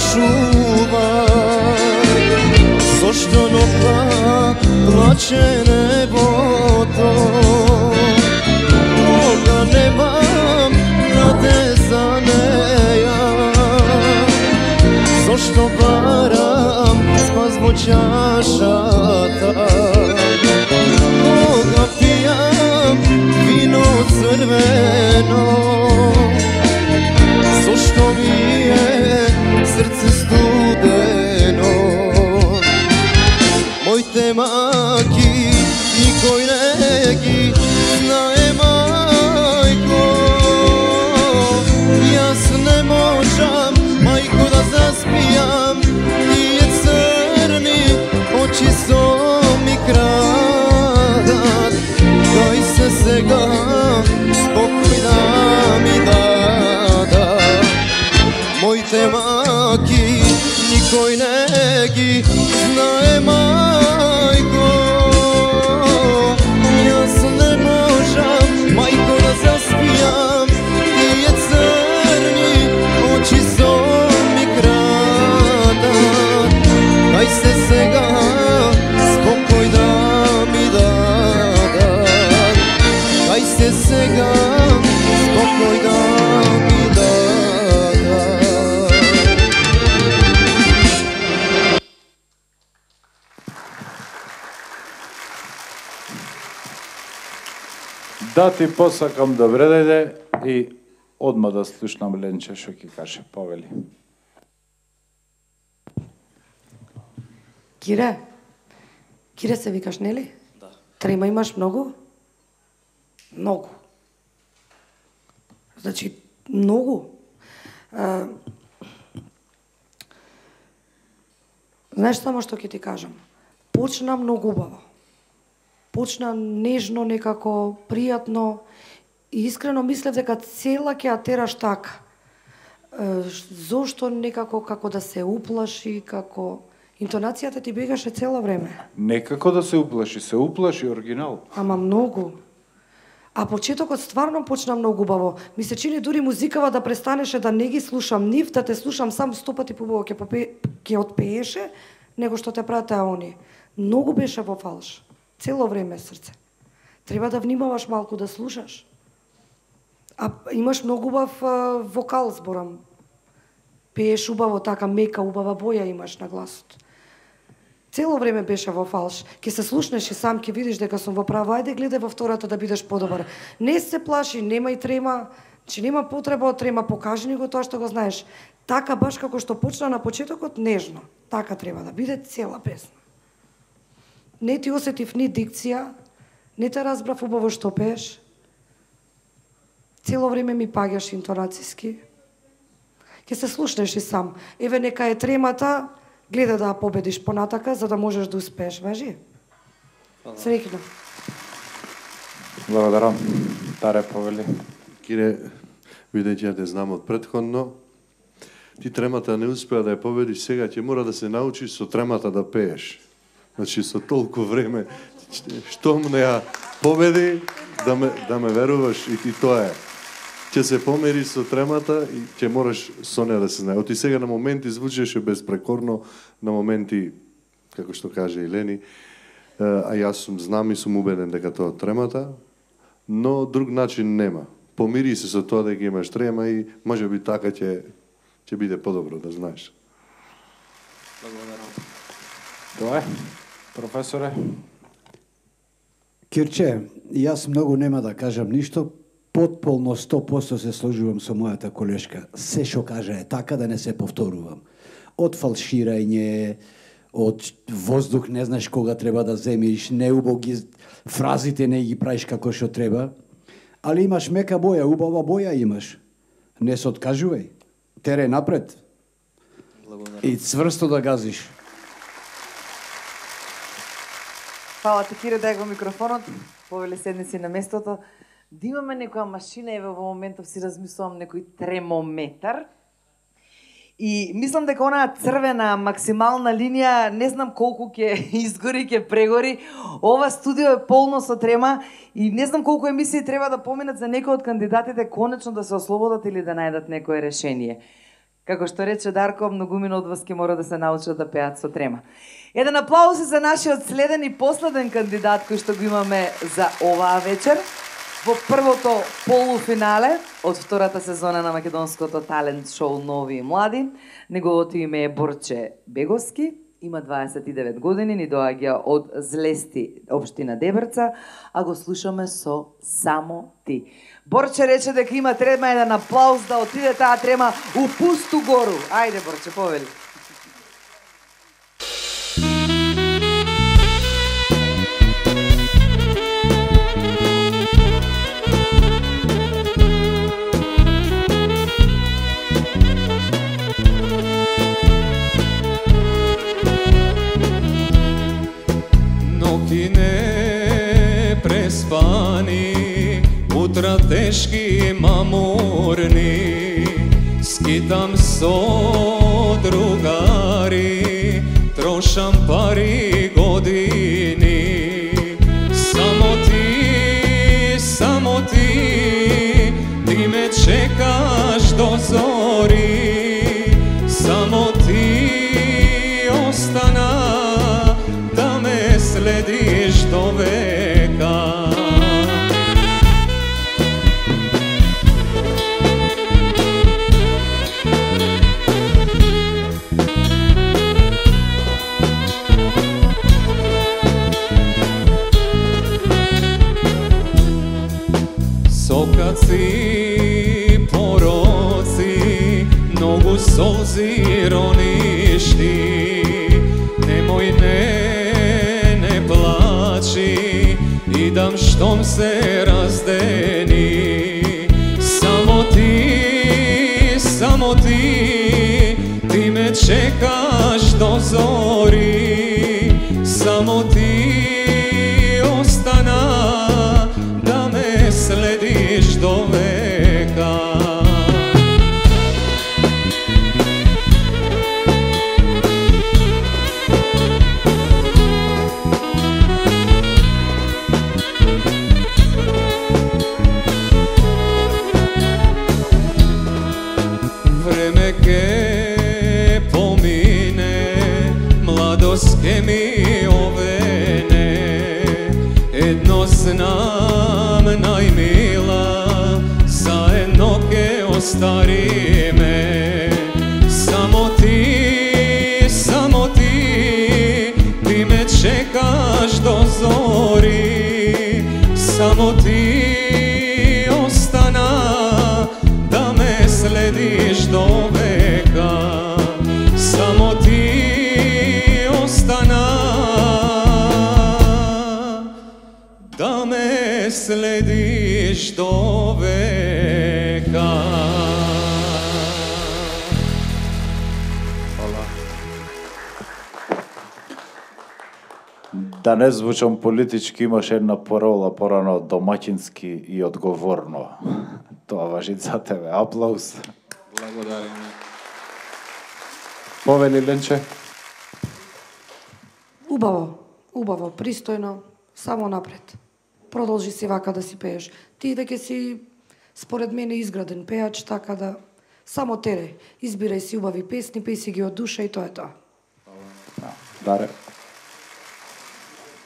чувај, зошто ноќта плаче небото, кога немам наде за неја, зошто барам спас во чашата, кога пијам вино црвено, зошто ми е срце студено. Моите маки никој не ги знае, мајко, јас не можам, мајко, да заспијам, тие црни очи со ми крадат, дај се сега спокој да ми дадат. Моите маки никој не ги знае, мајко, јас не можам, мајко, да заспијам, тие црни очи со ми крадат, дај се сега спокој да ми дадат, дај се сега спокој да ми дадат. Да ти посакам добре дојде и одма да слушнам Ленче што ќе каже. Повели. Кире, Кире се викаш, нели? Да. Трема имаш многу? Многу. Значи, многу. А, знаеш само што ќе ти кажам? Почна многу убаво. Почна нежно, некако, пријатно и искрено мислев дека цела ќе ја тераш така. Е, зошто некако како да се уплаши, како интонацијата ти бегаше цела време. Некако да се уплаши, се уплаши оригинал. Ама многу. А почетокот стварно почна многу убаво. Ми се чини дури музикава да престанеше да не ги слушам нив, да те слушам сам сто пати побаво ќе попе... ќе отпееше, него што те прават они. Многу беше во фалш. Цело време срце. Треба да внимаваш малку да слушаш. А имаш многу убав а, вокал, зборам. Пееш убаво, така мека, убава боја имаш на гласот. Цело време беше во фалш. Ке се слушнеш и сам ке видиш дека сум во права. Ајде гледај во втората да бидеш подобар. Не се плаши, немај трема, че нема потреба од трема, покажи ни го тоа што го знаеш. Така баш како што почна на почетокот, нежно. Така треба да биде цела песна. Не ти осетив ни дикција, не те разбрав убаво што пееш. Цело време ми паѓаш интонацијски. Ке се слушнеш и сам. Еве нека е тремата, гледа да ја победиш понатака, за да можеш да успееш, важи? Среќно. Благодарам. Таре, повели. Кире, бидејќи ја те знам од претходно, ти тремата не успеа да ја победиш, сега ќе мора да се научиш со тремата да пееш. Значи, со толку време, штом не ја победи, да ме, да ме веруваш и ти тоа е. Ќе се помери со тремата и ќе мораш со неја да се знае. Оти сега на моменти звучеше безпрекорно, на моменти, како што каже Елени, а јас сум знам и сум убеден дека тоа тремата, но друг начин нема. Помири се со тоа дека имаш трема и можеби така ќе ќе биде подобро, да знаеш. Благодарам. Тоа е, професоре. Кирче, јас многу нема да кажам ништо, потполно сто проценти се сложувам со мојата колешка. Се што кажа е така, да не се повторувам. Од фалширање, од воздух не знаеш кога треба да земиш, неубаво ги фразите не ги правиш како што треба, али имаш мека боја, убава боја имаш. Не се откажувај. Тере напред. Благодарам. И цврсто да газиш. Фала ти, Кире, дај го микрофонот. Повели, седни си на местото. Да имаме некоја машина, еве во моментов си размислувам некој тремометар. И мислам дека онаа црвена максимална линија, не знам колку ќе изгори, ќе прегори. Ова студио е полно со трема и не знам колку емисии треба да поминат за некој од кандидатите конечно да се ослободат или да најдат некое решение. Како што рече Дарко, многумина од вас ќе мора да се научат да пеат со трема. Еден аплауз за нашиот следен и последен кандидат кој што го имаме за оваа вечер во првото полуфинале од втората сезона на македонското талент шоу Нови и млади. Неговото име е Борче Беговски, има дваесет и девет години, ни доаѓа од Злести, општина Дебрца, а го слушаме со Само ти. Борче рече дека има трема, еден аплауз да отиде таа трема у пусту гору. Ајде, Борче, повели. Ноки не преспани, утра тешки мамурни, скитам со другари, трошам пари години. Само ти, само ти, ти ме чекаш до зори. Само ти остана да ме следиш до века. Сокаци, пороци, многу солзи роништи. Немој, не, не плачи, идам штом се раздени. Само ти, само ти, ти ме чекаш до зори. Само ти остана да ме следиш до века. Време ке помине, младост ке ми овене. Едно знам, најмила, заедно ке остариме. Само ти, само ти, ти ме чекаш до зори. Само ти остана да ме следиш до века. Само ти остана да ме следиш до века. Да не звучам политички, имаше една парола порано домаќински и одговорно. Тоа важи за тебе. Аплауз. Благодариме. Повели, Ленче. Убаво, убаво, пристојно, само напред. Продолжи си вака да си пееш. Ти дека си, според мене, изграден пеач, така да само тере. Избирај си убави песни, пеј си ги од душа и тоа е тоа. Даре.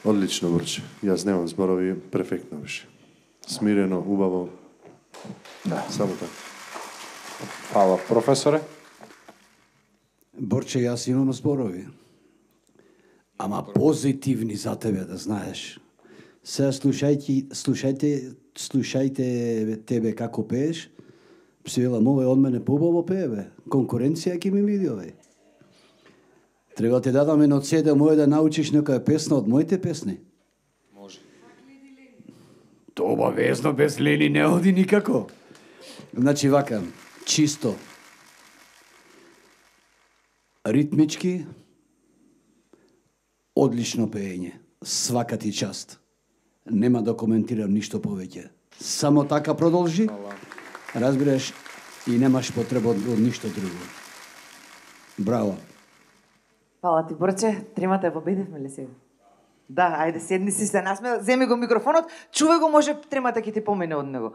Одлично, Борче. Јас немам зборови, перфектно беше. Смирено, убаво. Да. Само така. Фала, професоре. Борче, јас имам зборови. Ама позитивни за тебе, да знаеш. Сега слушајте, слушајте, слушајте тебе како пееш. Си велам, овој од мене побаво пее, бе. Конкуренција ќе ми види овој. Треба ти дадам едно цеде моје да научиш некоја песна од моите песни. Може. Тоа обавезно без Лени не оди никако. Значи вака, чисто. Ритмички, одлично пеење. Свака ти част. Нема да коментирам ништо повеќе. Само така продолжи. Разбираш, и немаш потреба од, од ништо друго. Браво. Фала ти, Борче. Тримата ја победивме ли сега? Да, ајде, седни си се насме, земи го микрофонот, чувај го, може тримата ќе ти помине од него.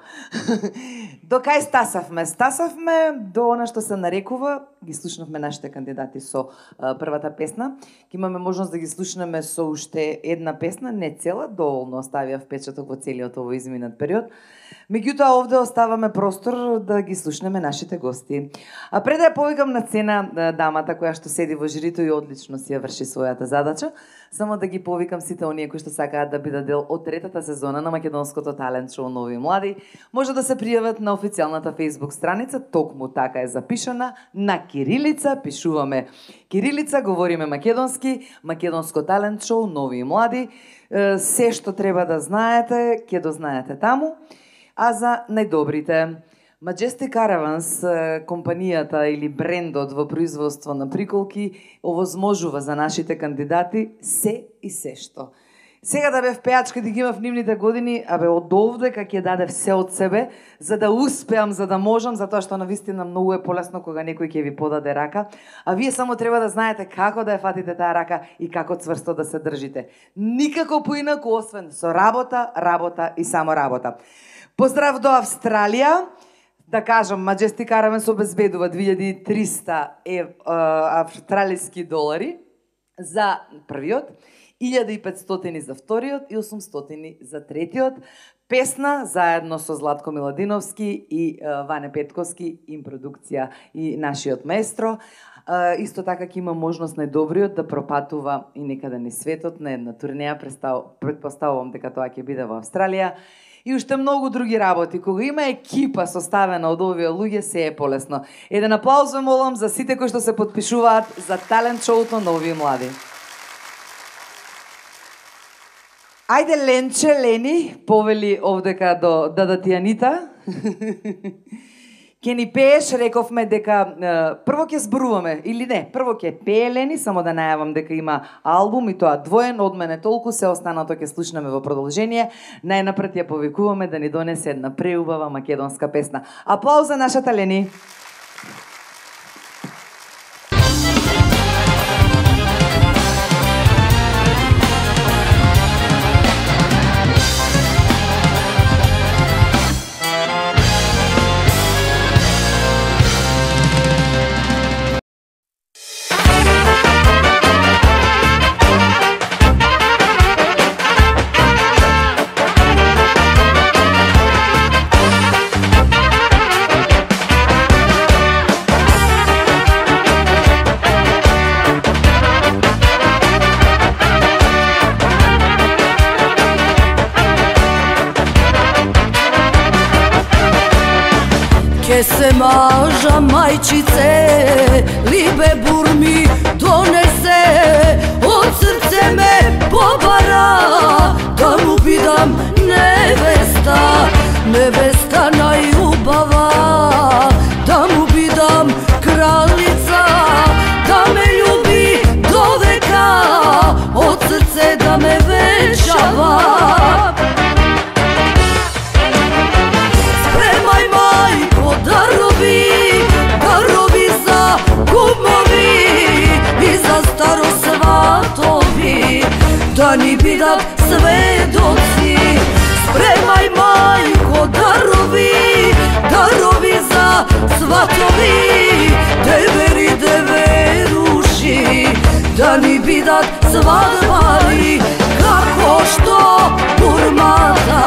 До кај стасавме? Стасавме до она што се нарекува ги слушнавме нашите кандидати со а, првата песна. Ке имаме можност да ги слушнеме со уште една песна, не цела, доволно оставија впечаток во целиот овој изминат период. Меѓутоа, овде оставаме простор да ги слушнеме нашите гости. А пред да ја повикам на цена дамата која што седи во жирито и одлично си ја врши својата задача, само да ги повикам сите оние кои што сакаат да бидат дел од третата сезона на македонското талент шоу Нови и млади, може да се пријават на официјалната Facebook страница, токму така е запишана, на кирилица, пишуваме кирилица, говориме македонски, македонско талент шоу Нови и млади. Се што треба да знаете, ќе дознаете таму. А за најдобрите, Majestic Caravans, компанијата или брендот во производство на приколки, овозможува за нашите кандидати се и се што. Сега да бев пеач каде ги имав нивните години, абе од овдека ќе дадев се од себе, за да успеам, за да можам, затоа што навистина многу е полесно кога некој ќе ви подаде рака, а вие само треба да знаете како да ја фатите таа рака и како цврсто да се држите. Никако поинаку освен со работа, работа и само работа. Поздрав до Австралија. Да кажам, Majestic Caravans обезбедува две илјади и триста ев, а, австралиски долари за првиот, илјада и петстотини за вториот и осумстотини за третиот. Песна заедно со Златко Миладиновски и а, Ване Петковски, им продукција и нашиот маестро. А, исто така ќе има можност најдобриот да пропатува и некаде низ светот на една турнеја, предпоставувам дека тоа ќе биде во Австралија. И уште многу други работи. Кога има екипа составена од овие луѓе, се е полесно. Еден аплауз ве молам за сите кои што се потпишуваат за талент шоуто Нови и млади. Ајде Ленче, Лени, повели овдека до Дада Тијанита. Ке ни пееш, рековме дека е, прво ќе зборуваме, или не, прво ќе пее Лени, само да најавам дека има албум и тоа двоен, од мене толку, се останато ќе слушнеме во продолжение. Најнапред ја повикуваме да ни донесе една преубава македонска песна. Аплауз за нашата Лени. Се мажа мајчице, либе бурми донесе, од срце ме побара, да му бидам невеста, невеста најубава, да му бидам кралица, да ме љуби до века, од срце да ме венчава. Дарови, дарови за кумови и за старосватови, да ни бидат сведоци. Спремај мајко дарови, дарови за сватови, девери деверуши, да ни бидат свадбари, како што бурмата,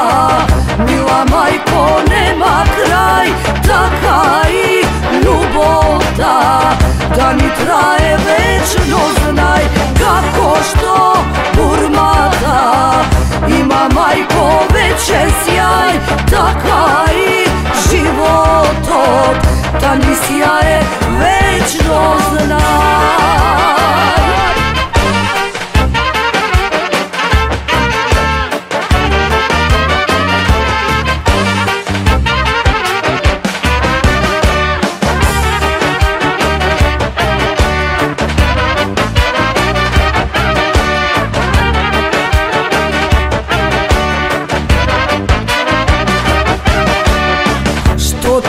мила мајко нема крај, така и љубовта, да ни трае вечно, знај, како што бурмата има мајко вечен сјај, така и животот, да ни сјае вечно, знај.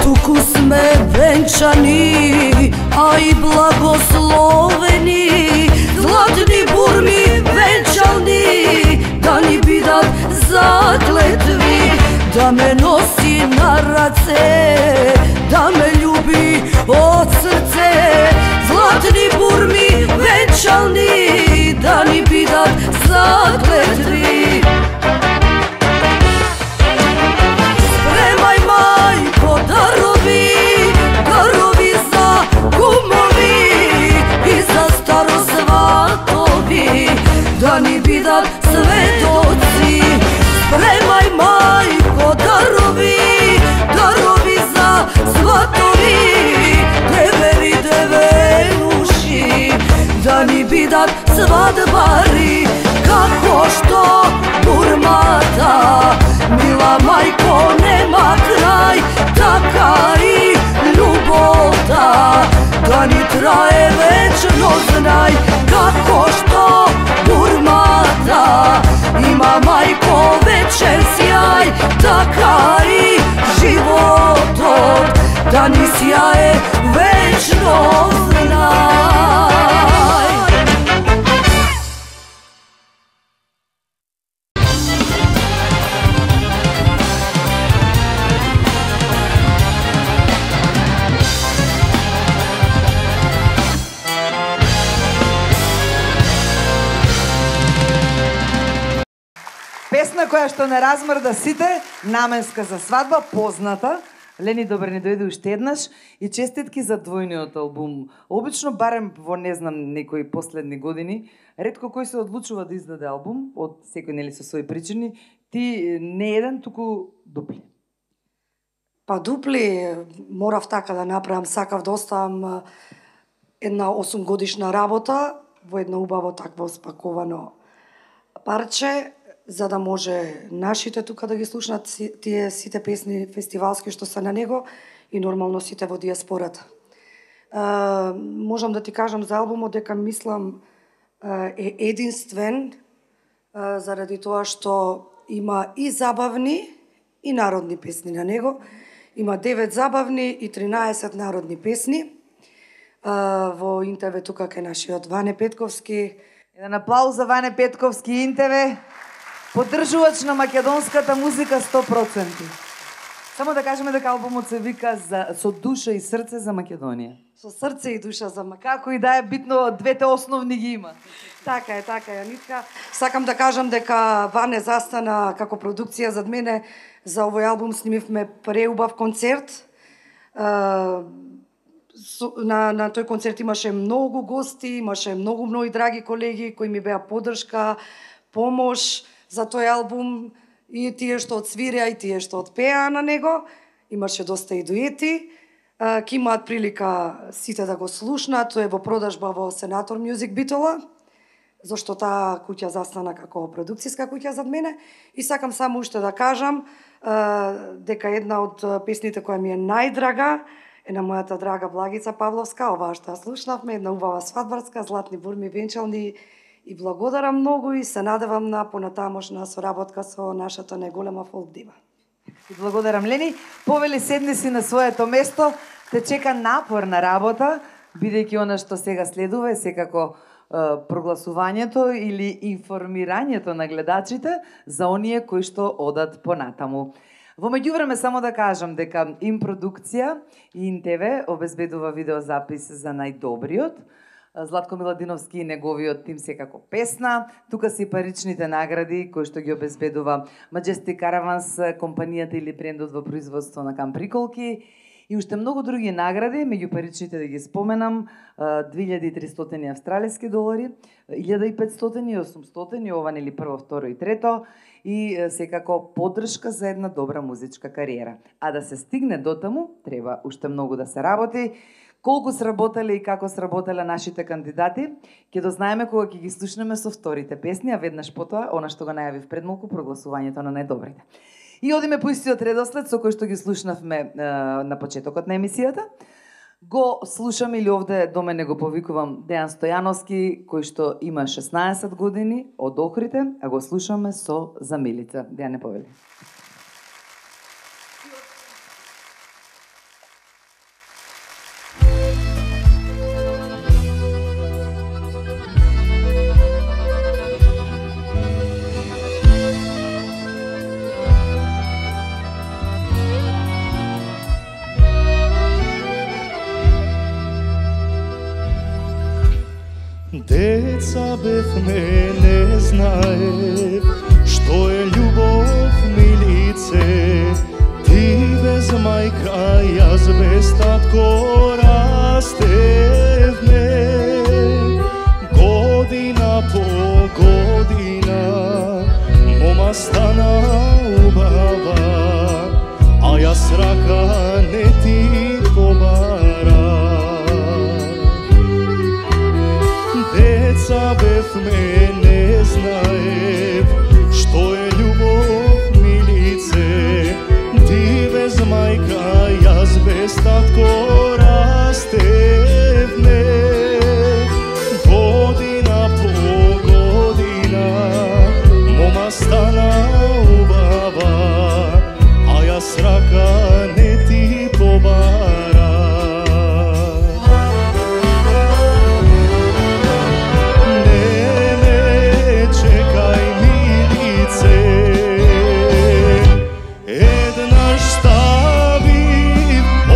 Туку сме венчани, а и благословени, златни бурми венчални, да ни бидат заклетви, да ме носи на раце, да ме љуби од срце, бидат светоци. Спремај мајко дарови, дарови за сватови, девери девенуши, да ни бидат свадбари, како што бурмата. Мила мајко нема крај, така и љубовта, да ни трае вечно, знај, како што бурмата. Има мајко вечен сјај, така и животот, да ни сјае вечно, знај. Песна која што не размрда сите, наменска за свадба, позната. Лени, добре ни дојде уште еднаш и честитки за двојниот албум. Обично, барем во не знам некои последни години, ретко кој се одлучува да издаде албум, од секој нели со своји причини, ти не еден, туку дупли. Па дупли, морав така да направам, сакав да оставам една осум годишна работа во едно убаво такво спаковано парче, за да може нашите тука да ги слушнат тие сите песни фестивалски што се на него и нормално сите во диаспората. Е, можам да ти кажам за албумот дека мислам е единствен е, заради тоа што има и забавни и народни песни на него. Има девет забавни и тринаесет народни песни. Е, во Интеве тука кај нашиот Ване Петковски. Еден аплауз за Ване Петковски Интеве. Поддржувач на македонската музика сто проценти. Само да кажеме дека албумот се вика за, со душа и срце за Македонија. Со срце и душа за Македонија. Како и да е битно, двете основни ги има. Така е, така е, Анитка. Сакам да кажам дека Ване застана како продукција зад мене. За овој албум снимивме преубав концерт. На, на тој концерт имаше многу гости, имаше многу мои драги колеги кои ми беа поддршка, помош за тој албум, и тие што одсвиреа и тие што одпеа на него. Имаше доста и дуети. Ке имаат прилика сите да го слушнат. Тој е во продажба во Сенатор Мюзик Битола, зашто таа куќа застана како продукцијска куќа зад мене. И сакам само уште да кажам дека една од песните која ми е најдрага е на мојата драга Благица Павловска, оваа што ја слушнавме, една убава свадбарска, златни бурми венчални. И благодарам многу и се надевам на понатамошна соработка со нашата најголема фолк дива. И благодарам, Лени. Повели, седни си на своето место, те чека напорна работа, бидејќи она што сега следува е секако е, прогласувањето или информирањето на гледачите за оние кои што одат понатаму. Во меѓувреме само да кажам дека Им продукција и Интеве обезбедува видеозапис за најдобриот. Златко Миладиновски и неговиот тим секако песна. Тука си паричните награди кои што ги обезбедува Majestic Caravans, компанијата или брендот во производство на камприколки. И уште многу други награди, меѓу паричните да ги споменам, две илјади и тристотини австралиски долари, илјада и петстотини и осумстотини, ова нели прво, второ и трето, и секако поддршка за една добра музичка кариера. А да се стигне до таму, треба уште многу да се работи. Колку сработале и како сработале нашите кандидати, ќе дознаеме кога ќе ги слушнеме со вторите песни, а веднаш потоа, она што го најавив пред малку, прогласувањето на најдобрите. И одиме по истиот редослед со кој што ги слушнавме е, на почетокот на емисијата. Го слушам или овде до мене го повикувам Дејан Стојановски, кој што има шеснаесет години од Охрите, а го слушаме со За Милица. Дејане, повели. Деца бевме, не знаев што е љубов, милице. Ти без мајка, јас без татко растевме. Година по година забевме, не знаев што е љубов, милице. Ти без мајка, јас без татко растевме. Година по година мома стана убава, а јас рака не ти побара. Не ме чекај, милице, еднаш стави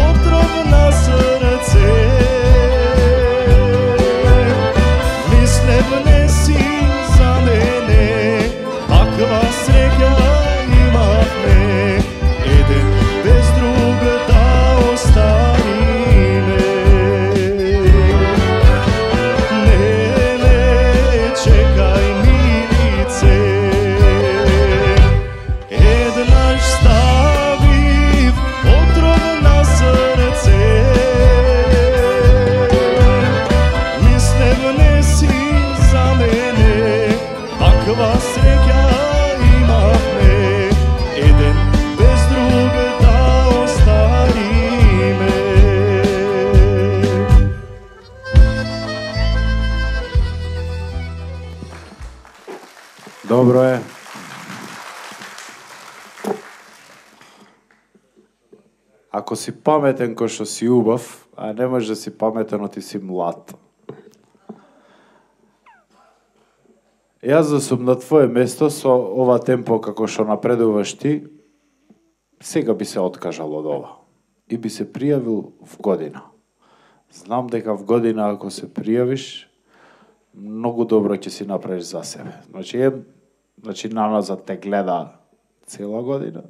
отров на срце. Мислев не си за мене, таква среќа имавме, еден без друг да останиме. Не ме чекај, милице, еднаш ставив отров на срце. Мислев не си за мене, таква среќа имавме, еден без друг да останиме. Добро е. Ако си паметен кој што си убав, а не можеш да си паметен, оти си млад. Јас да сум на твое место со ова темпо како што напредуваш ти, сега би се откажал од ова и би се пријавил в година. Знам дека в година ако се пријавиш, многу добро ќе си направиш за себе. Значи, е, значи наназад те гледа цела година,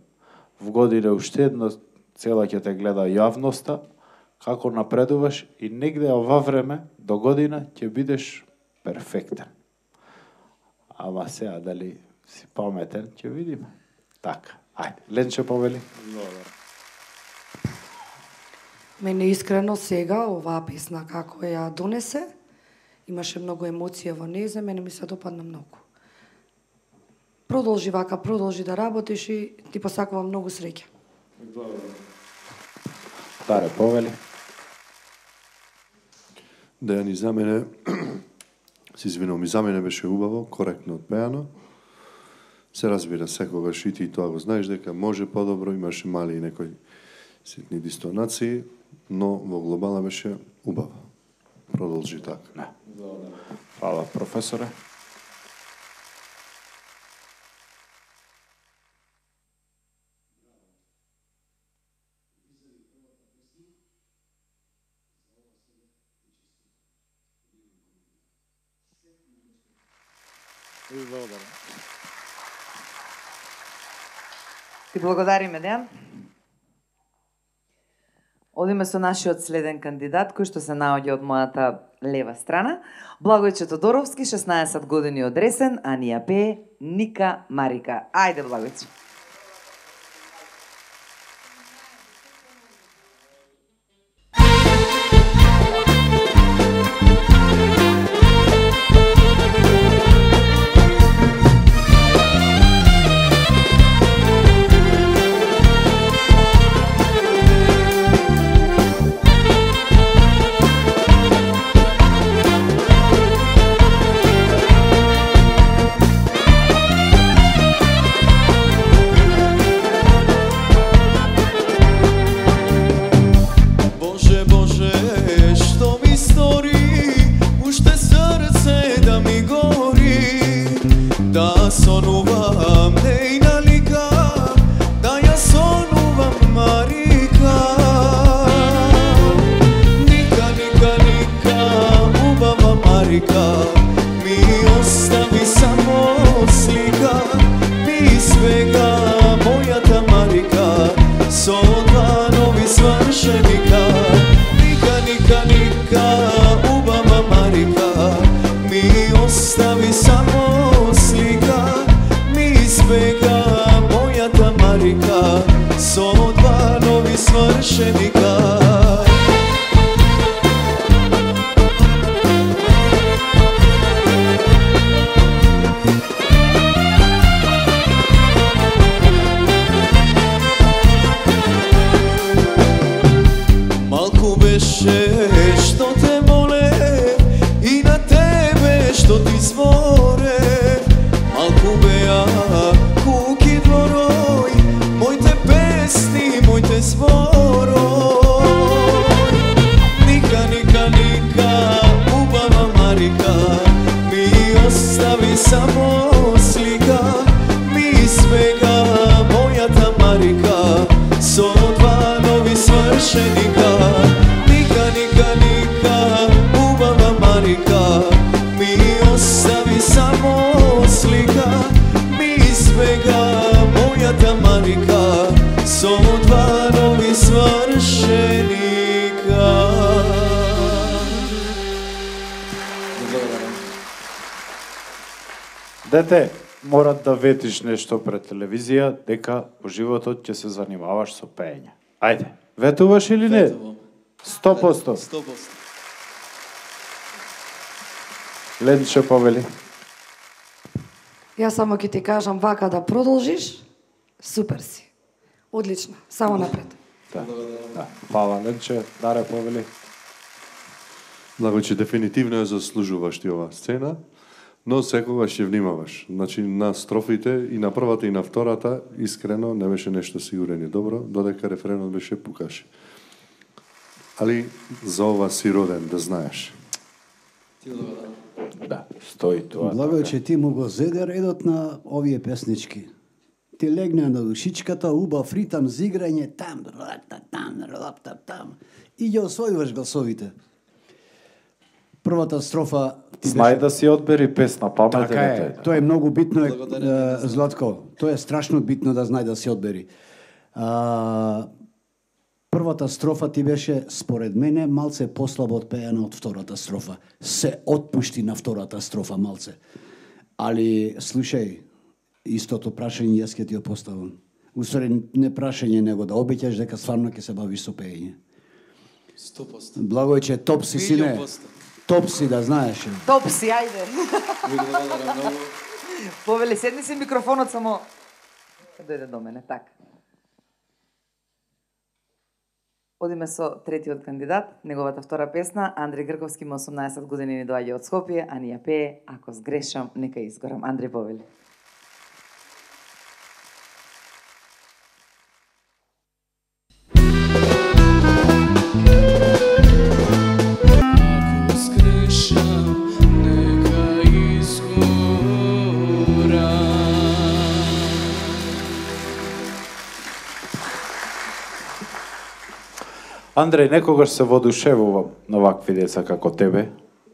в година уште една цела ќе те гледа јавноста, како напредуваш и негде ова време до година ќе бидеш перфектен. Ама сега дали си паметен, ќе видиме. Така, ајде, Ленче повели. Мене искрено сега оваа песна како ја донесе, имаше многу емоција во неја, за мене ми се допадна многу. Продолжи вака, продолжи да работиш и ти посакувам многу среќа. Даре, повели. Дејани, за мене, се извинувам, и за мене беше убаво, коректно отпеано. Се разбира, секогаш и ти тоа го знаеш дека може подобро, имаше мали и некои ситни дистонации, но во глобала беше убаво. Продолжи така. Не. Фала, професоре. Ти благодариме, Дејан. Одиме со нашиот следен кандидат, кој што се наоѓа од мојата лева страна. Благојче Тодоровски, шеснаесет години од Ресен, а ни ја пее Ника Марика. Ајде, Благојче. што ти зборе, малку беа куки дворој, моите песни, моите зборој. Ника, ника, ника, убава Марика, ми остави само слика, ми избега мојата Марика, со два нови свршеника. Ника, ника, ника, убава Марика, ми остави само слика, ми избега мојата Марика, со два нови свршеника. Дете, мора да ветиш нешто пред телевизија, дека во животот ќе се занимаваш со пеење. Ајде, ветуваш или не? сто проценти. сто проценти. Ленче повели. Јас само ќе ти кажам вака да продолжиш, супер си. Одлично, само напред. Да. Да. Фала, Ленче, Даре повели. Значи, дефинитивно ја заслужуваш ти оваа сцена, но секогаш ја внимаваш. Значи, на строфите и на првата и на втората, искрено, не беше нешто сигурен и добро, додека рефренот беше пукаш. Али за ова си роден, да знаеш. Да, стои тоа. Благо че ти му го зеде редот на овие песнички. Ти легне на душичката, убав ритам, зиграње, там, рапта, там, рапта, там. И ги освојуваш гласовите. Првата строфа ти Знај беше... да си одбери песна, паметен Така е, е. тоа е многу битно, е, е, Златко. Тоа е страшно битно да знај да си одбери. А, првата строфа ти беше, според мене, малце послабо отпеена од втората строфа. Се отпушти на втората строфа малце. Али, слушај, истото прашање јас ќе ти ја поставам. Усвари, не прашање, него да обеќаш дека стварно ќе се бавиш со пеење. сто проценти. Благо е, че топ си, сине. Топ си, да знаеш. Топ си, ајде. Ви благодарам многу. Повели, седни си микрофонот само... Дојде до мене, така. Одиме со третиот кандидат, неговата втора песна, Андреј Грковски, има осумнаесет години, ни доаѓа од Скопје, а ни ја пее Ако сгрешам, нека изгорам. Андреј, повели. Ако сгрешам, нека изгорам. Андреј, некогаш се воодушевувам на вакви деца како тебе.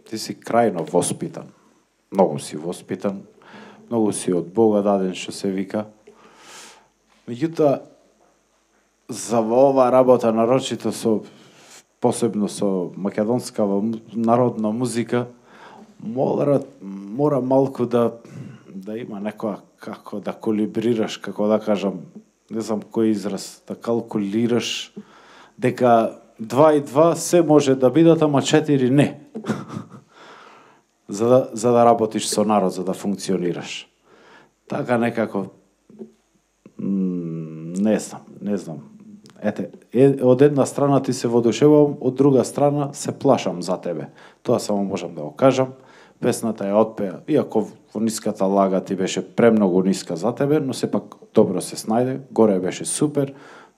Ти си крајно воспитан. Многу си воспитан. Многу си од Бога даден, што се вика. Меѓутоа, за ова работа, нарочито со, посебно со македонска народна музика, мора, мора малку да, да има некоја, како да колибрираш, како да кажам, не знам кој израз, да калкулираш, дека два и два се може да бидат, ама четири не. за, да, за да работиш со народ, за да функционираш. Така некако, не знам, не знам. Ете, е, од една страна ти се воодушевувам, од друга страна се плашам за тебе. Тоа само можам да го кажам. Песната ја отпеа, иако во ниската лага ти беше премногу ниска за тебе, но сепак добро се снајде, горе беше супер,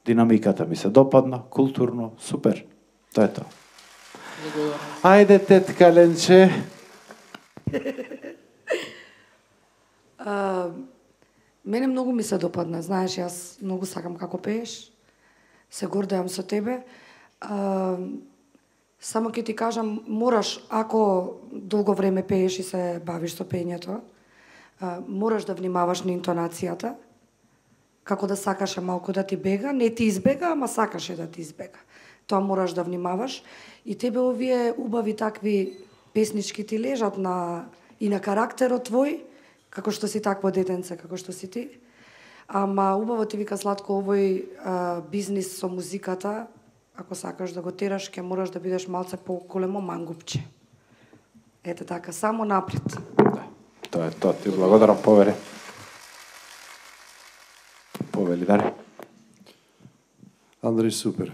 динамиката ми се допадна, културно, супер. Тоа е тоа. Ајде, тетка Ленче. А, мене многу ми се допадна, знаеш, јас многу сакам како пееш, се гордеам со тебе. А, само ќе ти кажам, мораш, ако долго време пееш и се бавиш со пењето, а, мораш да внимаваш на интонацијата, како да сакаше малку да ти бега, не ти избега, ама сакаше да ти избега. Тоа мораш да внимаваш. И тебе овие убави такви песнички ти лежат на, и на карактерот твој, како што си такво детенце, како што си ти. Ама убаво ти вика Златко, овој а, бизнис со музиката, ако сакаш да го тераш, ќе мораш да бидеш малце по-големо мангупче. Ете така, само напред. Да, тоа е тоа. Ти благодарам, повере. Повели, Даре. Андреј, супер.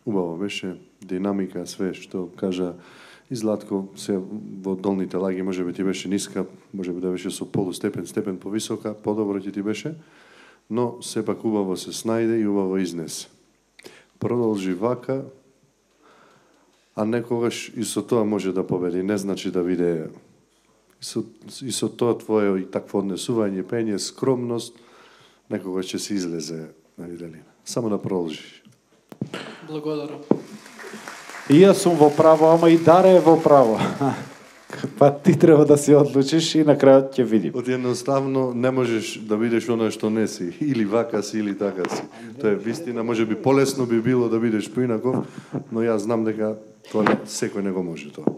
Убаво беше, динамика, све што кажа И Златко се во долните лаги може би ти беше ниска, може би да беше со полустепен, степен повисока, подобро ќе ти беше, но сепак убаво се снајде и убаво изнесе. Продолжи вака, а некогаш и со тоа може да победи, не значи да биде и со, и со тоа твое и такво однесување, пење, скромност, некогаш ќе се излезе на виделина. Само да продолжиш. Благодарам. И јас сум во право, ама и Даре е во право. Па ти треба да се одлучиш и на крајот ќе видим. Од едноставно не можеш да бидеш оно што не си, или вака си, или така си. Тоа е вистина, може би полесно би било да бидеш поинаков, но јас знам дека тоа не, секој не го може тоа.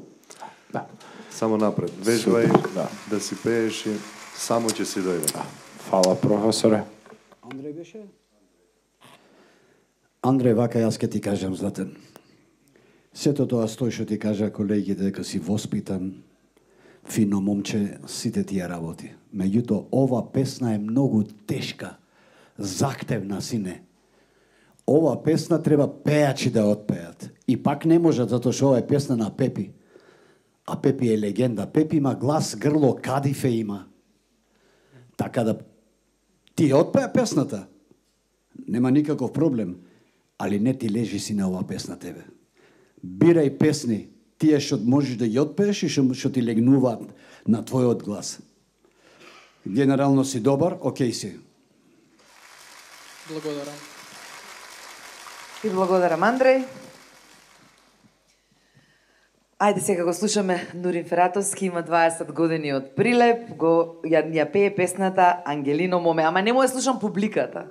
Да. Само напред, вежбај, да. да си пееш и само ќе си дојде. Да. Фала, професоре. Андреј беше? Андреј, вака јас ке ти кажам, Златен. Сето тоа стои што ти кажа колегите дека си воспитан, фино момче, сите тие работи. Меѓутоа, ова песна е многу тешка, захтевна, сине. Ова песна треба пејачи да отпеат. И пак не можат, затоа што ова е песна на Пепи. А Пепи е легенда. Пепи има глас, грло, кадифе има. Така да ти отпеа песната. Нема никаков проблем. Али не ти лежи си на ова песна тебе. Бирај песни, тие што можеш да ја отпееш и што ти легнуваат на твојот глас. Генерално си добар, окей си. Благодарам. И благодарам, Андреј. Ајде сега го слушаме Нурин Фератовски, има дваесет години од Прилеп, го ја, ја пее песната Ангелино моме, ама не му ја слушам публиката.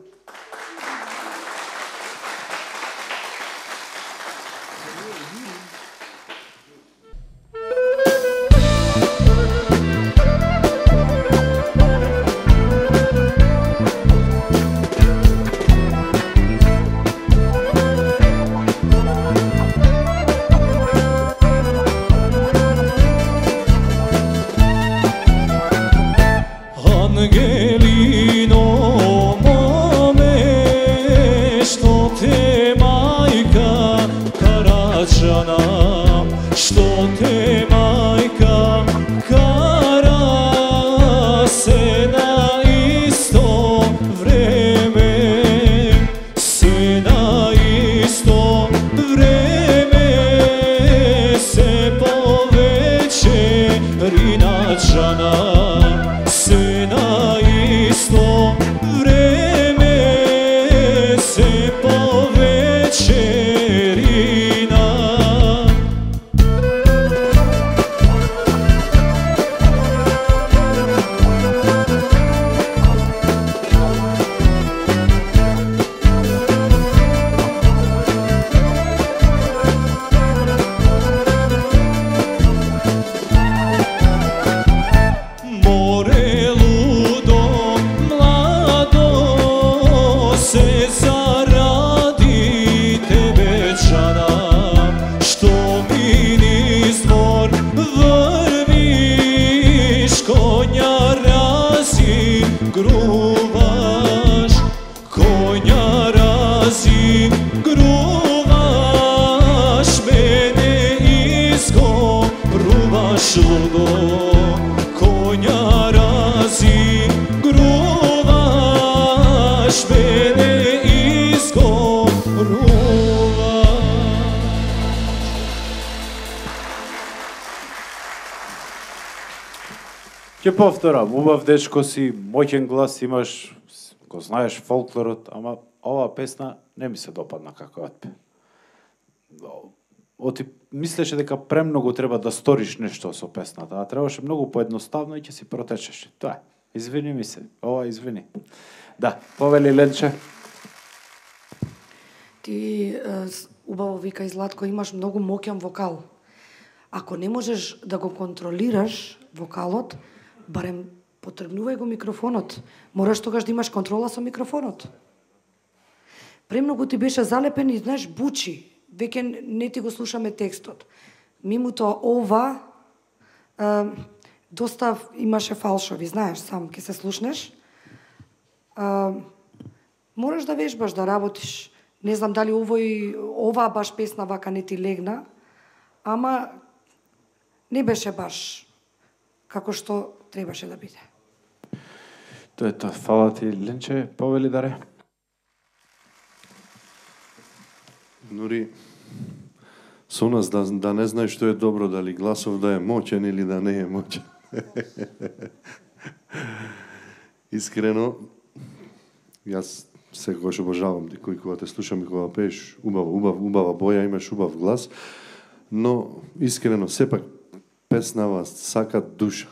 Ќе повторам, убав дечко си, моќен глас имаш, го знаеш фолклорот, ама оваа песна не ми се допадна како отпе. Оти мислеше дека премногу треба да сториш нешто со песната, а требаше многу поедноставно и ќе си протечеш. Тоа е. Извини ми се, ова извини. Да, повели Ленче. Ти убаво вика и Златко, имаш многу моќен вокал. Ако не можеш да го контролираш вокалот, барем потргнувај го микрофонот. Мораш тогаш да имаш контрола со микрофонот. Премногу ти беше залепен и, знаеш, бучи. Веќе не ти го слушаме текстот. Мимуто ова, е, доста имаше фалшови, знаеш, сам ке се слушнеш. Е, мораш да вежбаш, да работиш. Не знам дали овој, оваа баш песна вака не ти легна, ама не беше баш како што требаше да биде. Тоа е тоа. Фала ти, Ленче, повели даре. Нори со нас да, да не знаеш што е добро, дали гласов да е моќен или да не е моќен. Искрено, јас секогаш обожавам кој кога те слушам и кога пееш убаво, убав, убава боја, имаш убав глас, но искрено сепак песнава сака душа,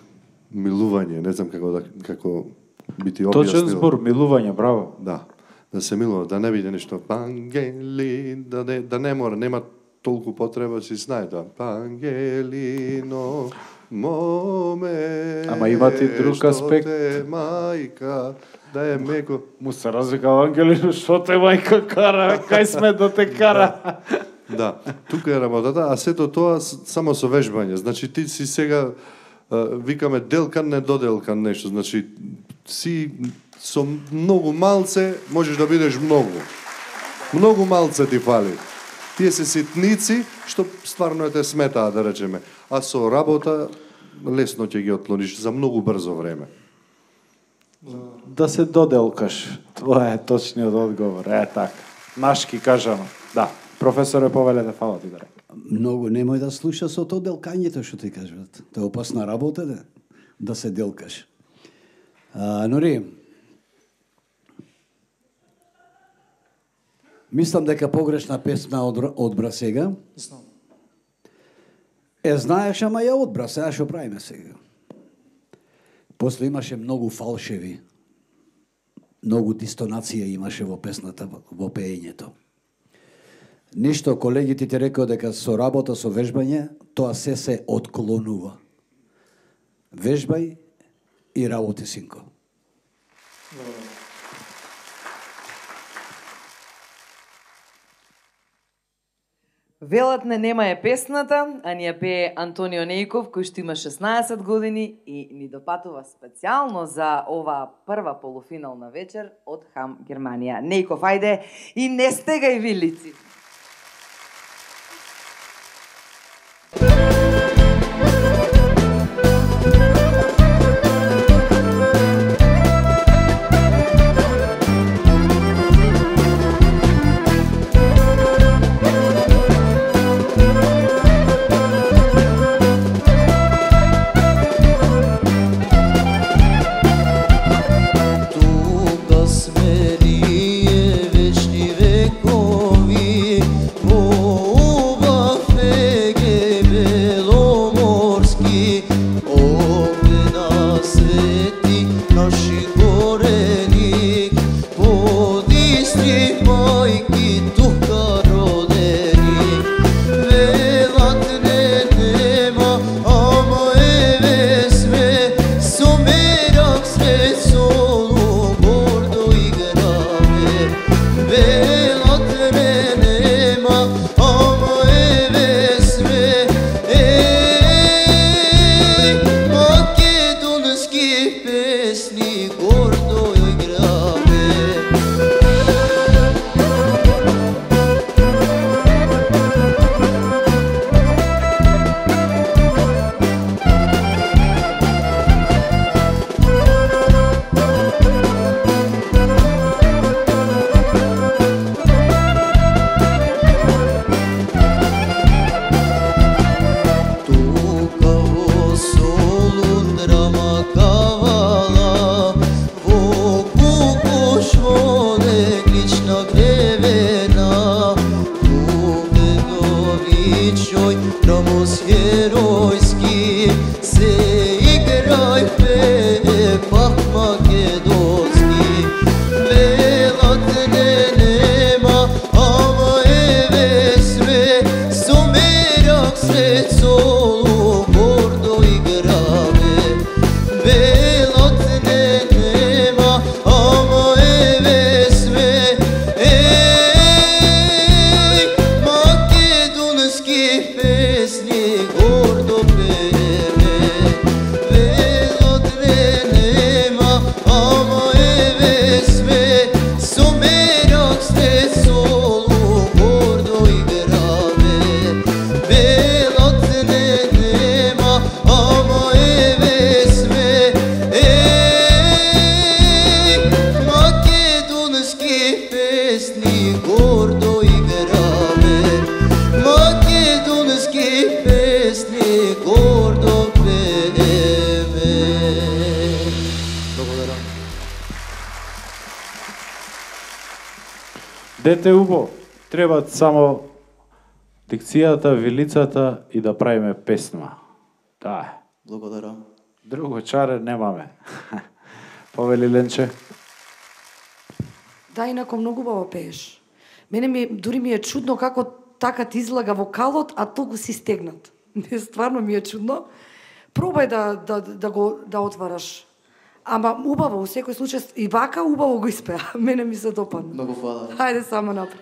милување, не знам како да како би ти објаснил. Точен збор, милување, браво. Да, да се милува, да не биде нешто пангели, да не, да не мора, нема толку потреба, си знае тоа. Пангелино, моме, Ама има ти друг аспект. Што те мајка, да е меко. Му се разликава Ангелино, што те мајка кара, кај сме да те кара. Да, тука е работата, а сето тоа само со вежбање. Значи ти си сега викаме делкан, не доделкан нешто. Значи си со многу малце можеш да бидеш многу. Многу малце ти фали. Тие се ситници што стварно те сметаа, да речеме. А со работа лесно ќе ги отклониш за многу брзо време. Да се доделкаш. Тоа е точниот одговор. Е така. Нашки кажано. Да. Професоре, повелете, фала ти да река. Многу немој да слуша со тоа делкањето што ти кажат. Тоа е опасна работа да, да се делкаш. А, Нори, мислам дека погрешна песна од, одбра сега. Знам. Е, знаеш, ама ја одбра, сега што правиме сега. После имаше многу фалшеви. Многу дистонација имаше во песната, во пеењето. Ништо, колегите ти рекоа дека со работа, со вежбање, тоа се се отклонува. Вежбај и работи, синко. Велат не нема е песната, а ни ја пее Антонио Нејков, кој што има шеснаесет години и ни допатува специјално за оваа прва полуфинална вечер од Хам Германија. Нејков, ајде и не стегај вилици. Тука сме ние вечни векови, Дете убо, треба само дикцијата, вилицата и да правиме песна. Да. Благодарам. Друго чаре немаме. Повели Ленче. Да, инако многу убаво пееш. Мене ми дури ми е чудно како така ти излага вокалот, а толку си стегнат. Не, стварно ми е чудно. Пробај да да да го да отвараш. Ама убаво, во секој случај и вака убаво го испеа. Мене ми се допадна. Многу фала. Хајде само напред.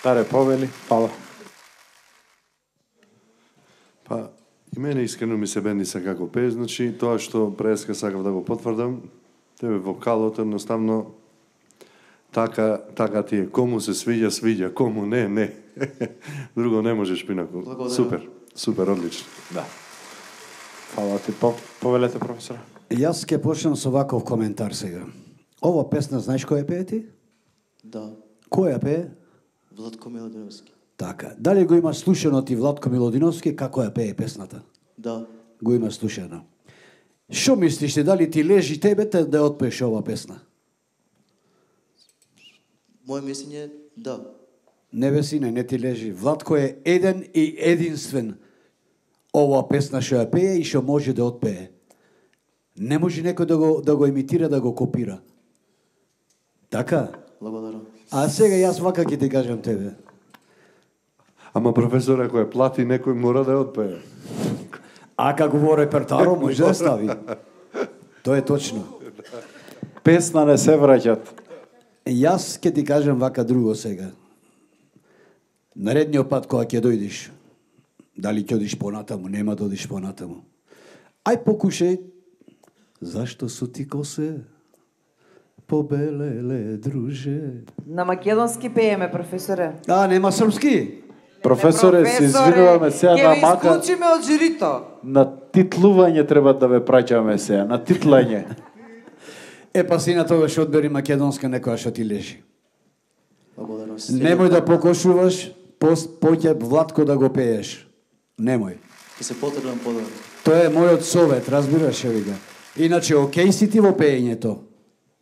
Таре, повели, фала. Па, и мене искрено ми се бендиса како пее, значи тоа што преска сакав да го потврдам, тебе вокалот едноставно така, така ти е. Кому се свиѓа, свиѓа, кому не, не. Друго не можеш пинако. Благодарам. Супер, супер, одлично. Да. Фала ти, по, повелете, професора. Јас ќе почнам со ваков коментар сега. Ова песна, знаеш која пее ти? Да. Која пее? Владко Милодиновски. Така. Дали го има слушано ти Владко Милодиновски како ја пее песната? Да. Го има слушано. Што мислиш ти, дали ти лежи тебе те да отпееш ова песна? Моје мислење, да. Не бе сине, не ти лежи. Владко е еден и единствен ова песна што ја пее и што може да отпее. Не може некој да го, да го имитира, да го копира. Така? Благодарам. А сега јас вака ќе ти кажам тебе. Ама професор, ако ја плати, некој мора да ја отпее. А како во репертаро може да стави. Тоа е точно. Песна не се враќат. Јас ќе ти кажам вака друго сега. Наредниот пат кога ќе дојдеш, дали ќе одиш понатаму, нема да одиш понатаму. Ај покушај, зашто су ти косе побелеле, друже. На македонски пееме, професоре. А, нема српски? Професоре, се извинуваме сега на Ќе ви мака. исклучиме од жирито. На титлување треба да ве праќаме сега, на титлање. Е, па си на тоа што одбери македонска некоја што ти лежи. Благодарам. Немој да покошуваш, поќе Владко да го пееш. Немој. Ќе се потрудам подобро. Тоа е мојот совет, разбираш ли го? Иначе, окей си ти во пеењето,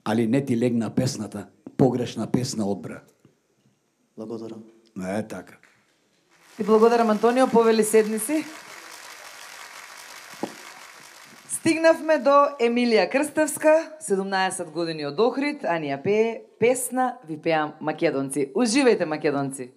али не ти легна песната. Погрешна песна одбра. Благодарам. Е, така. Ти благодарам, Антонио, повели седни си. Стигнавме до Емилија Крстевска, седумнаесет години од Охрид, а ни ја пее песна Ви пеам македонци. Уживајте, македонци.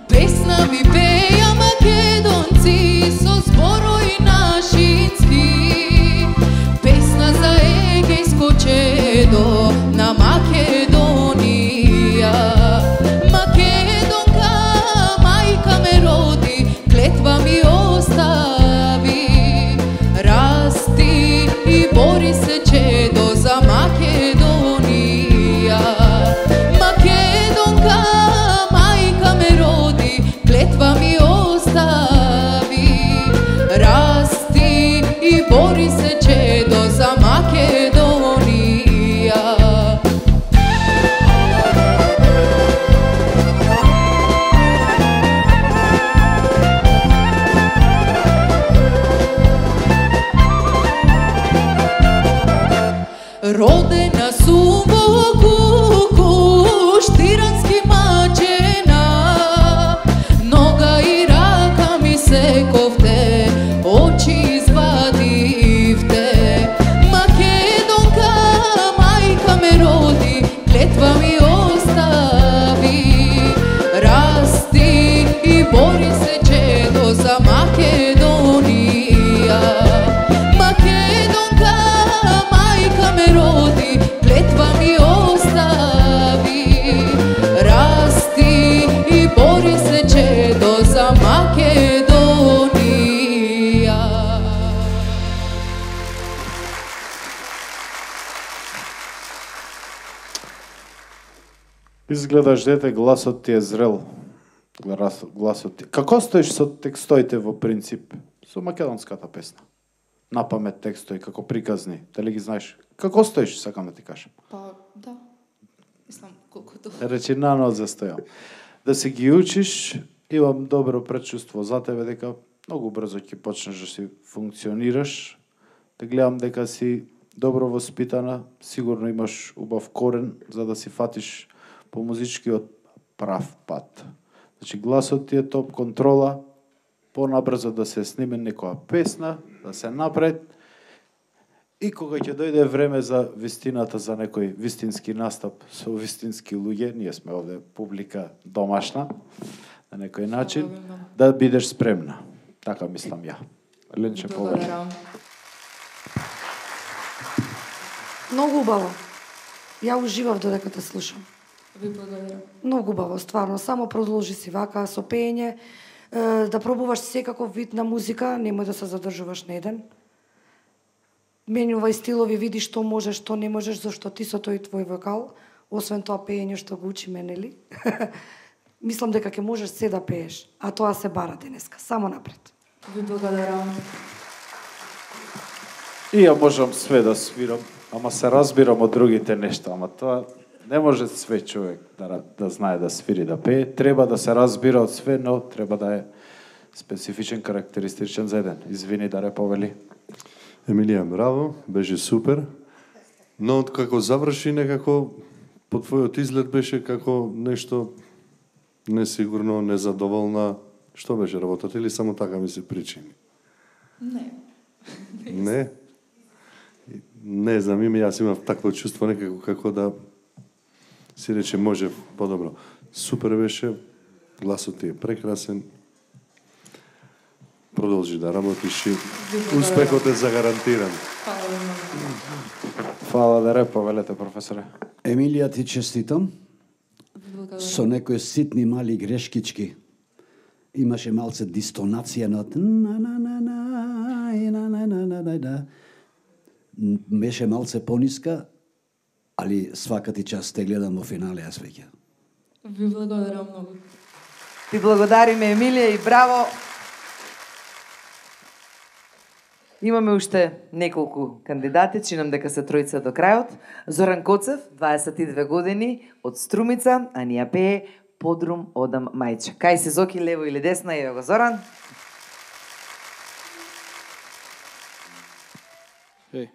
Песна ви пеја македонци со зборови нашински. Песна за егејско чедо на Македонија. Македонка, мајка ме роди, клетва ми остави. Расти и бори се чедо за Македонија. Македонка, мајка ме роди, клетва ми остави. Расти и бори се чедо за Македонија. Родена сум во Кукуш, тирански мачена. Нога и рака ми сековте, очи извадивте. Македонка, мајка ме роди, клетва ми остави. Расти и бори се чедо за Македонија. Македонка, мајка ме роди, клетва ми остави. Расти и бори се чедо за Македонија. Изгледаш дете, гласот ти е зрел. Глас- Гласот ти. Како стоиш со текстоите во принцип? Со македонската песна. На памет текстои, како приказни. Дали ги знаеш? Како стоиш, сакам да ти кажам. Па, да. Мислам, колкото... Речи на нот застојам. Да се ги учиш, имам добро предчувство за тебе дека многу брзо ќе почнеш да си функционираш. Да гледам дека си добро воспитана, сигурно имаш убав корен за да си фатиш по музичкиот прав пат. Значи гласот ти е топ контрола, понабрзо да се сниме некоја песна, да се напред. И кога ќе дојде време за вистината, за некој вистински настап со вистински луѓе, ние сме овде публика домашна, на некој начин, да бидеш спремна. Така мислам ја. Ленче, повеќе. Многу убаво. Ја уживав додека те слушам. Ви благодарам. Многу убаво, стварно. Само продолжи си вака со пеење, да пробуваш секаков вид на музика, немој да се задржуваш на еден. Менјувај стилови, види што можеш, што не можеш, зашто ти со тој твој вокал, освен тоа пеење што го учиме, нели? Мислам дека ќе можеш се да пееш, а тоа се бара денеска. Само напред. Ви благодарам. И ја можам све да свирам, ама се разбирам од другите нешта, ама тоа не може све човек да, да знае да свири, да пее. Треба да се разбира од све, но треба да е специфичен, карактеристичен за еден. Извини, Даре, повели. Емилија, браво, беше супер. Но како заврши некако по твојот изглед беше како нешто несигурно, незадоволна. Што беше работата или само така ми се причини? Не. Не? Не знам, име, јас имав такво чувство некако како да си рече може подобро. Супер беше, гласот ти е прекрасен. Продолжи да работиш и успехот е загарантиран. Фала, Даре, повелете, професоре. Емилија, ти честитам. Со некои ситни мали грешкички. Имаше малце дистонација на на на на на на на на на на на. Беше малце пониска, али свака ти час те гледам во финале јас веќе. Ви благодарам многу. Ти благодариме, Емилија, и браво. Имаме уште неколку кандидати, чинам дека се тројца до крајот. Зоран Коцев, дваесет и две години, од Струмица, а ни ја пее Подрум одам мајче. Кај си, Зоки, лево или десна, ево го Зоран. Еј.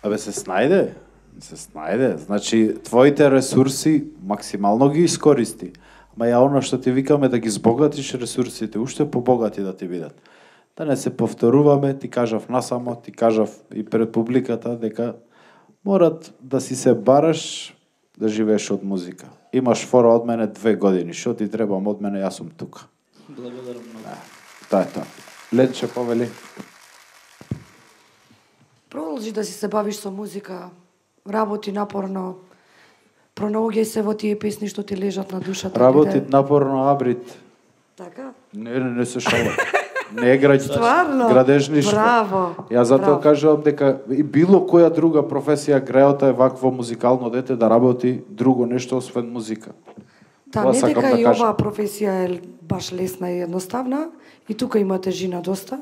Абе, се снајде, се снајде. Значи, твоите ресурси максимално ги искористи. Ама ја оно што ти викаме да ги збогатиш ресурсите, уште побогати да ти бидат. Да не се повторуваме, ти кажав насамо, ти кажав и пред публиката дека морат да си се бараш да живееш од музика. Имаш фора од мене две години, што ти требам од мене, јас сум тука. Благодарам многу. Тоа е тоа. Ленче, повели. Продолжи да си се бавиш со музика, работи напорно, пронаоѓај се во тие песни што ти лежат на душата. Работи напорно, Абрит. Така? Не, не, не се шала. Не е граѓ... Стварно? градежништво. Браво. Ја затоа Браво. кажувам дека и било која друга професија греота е вакво музикално дете да работи друго нешто освен музика. Та, Тоа не сакам дека да и кажам. оваа професија е баш лесна и едноставна, и тука има тежина доста.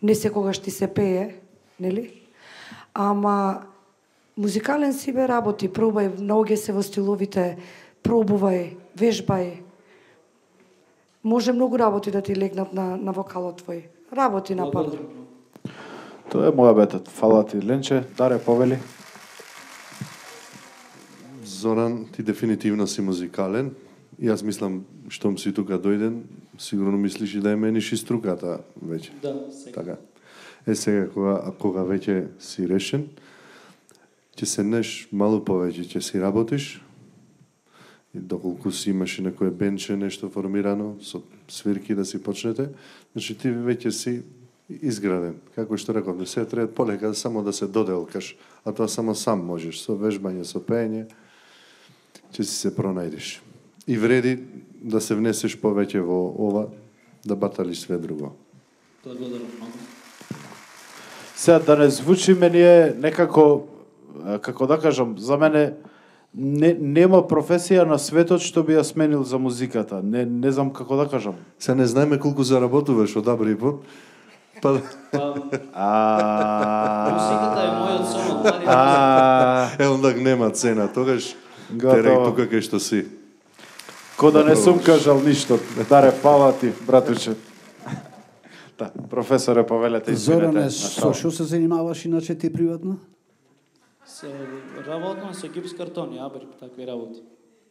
Не секогаш ти се пее, нели? Ама музикален си бе работи, пробај, наоѓај се во стиловите, пробувај, вежбај. Може многу работи да ти легнат на, на вокалот твој. Работи напорно. Тоа е моја бетот. Фала ти, Ленче. Даре, повели. Зоран, ти дефинитивно си музикален. Јас мислам, штом си тука дојден, сигурно мислиш и да ја мениш и струката веќе. Да, сега. Така. Е сега кога кога веќе си решен, ќе седнеш малку повеќе, ќе си работиш. И доколку си имаш и некое бенче, нешто формирано, со свирки да си почнете, значи ти веќе си изграден. Како што рековме, се треба полека само да се доделкаш, а тоа само сам можеш, со вежбање, со пеење, ќе си се пронајдеш. И вреди да се внесеш повеќе во ова, да баталиш све друго. Благодарам многу. Сега да не звучи мене некако, како да кажам, за мене не, нема професија на светот што би ја сменил за музиката. Не, не знам како да кажам. Се не знаеме колку заработуваш од Абрипот. Па... Музиката е мојот сон од Е, ондак нема цена, тогаш терек тука кај што си. Ко да не сум кажал ништо. Даре, фала ти, братуче. Да, професоре, повелете, извинете. Зоране, со што се занимаваш иначе ти приватно? Се работам со гипс картони, Абрип, такви работи.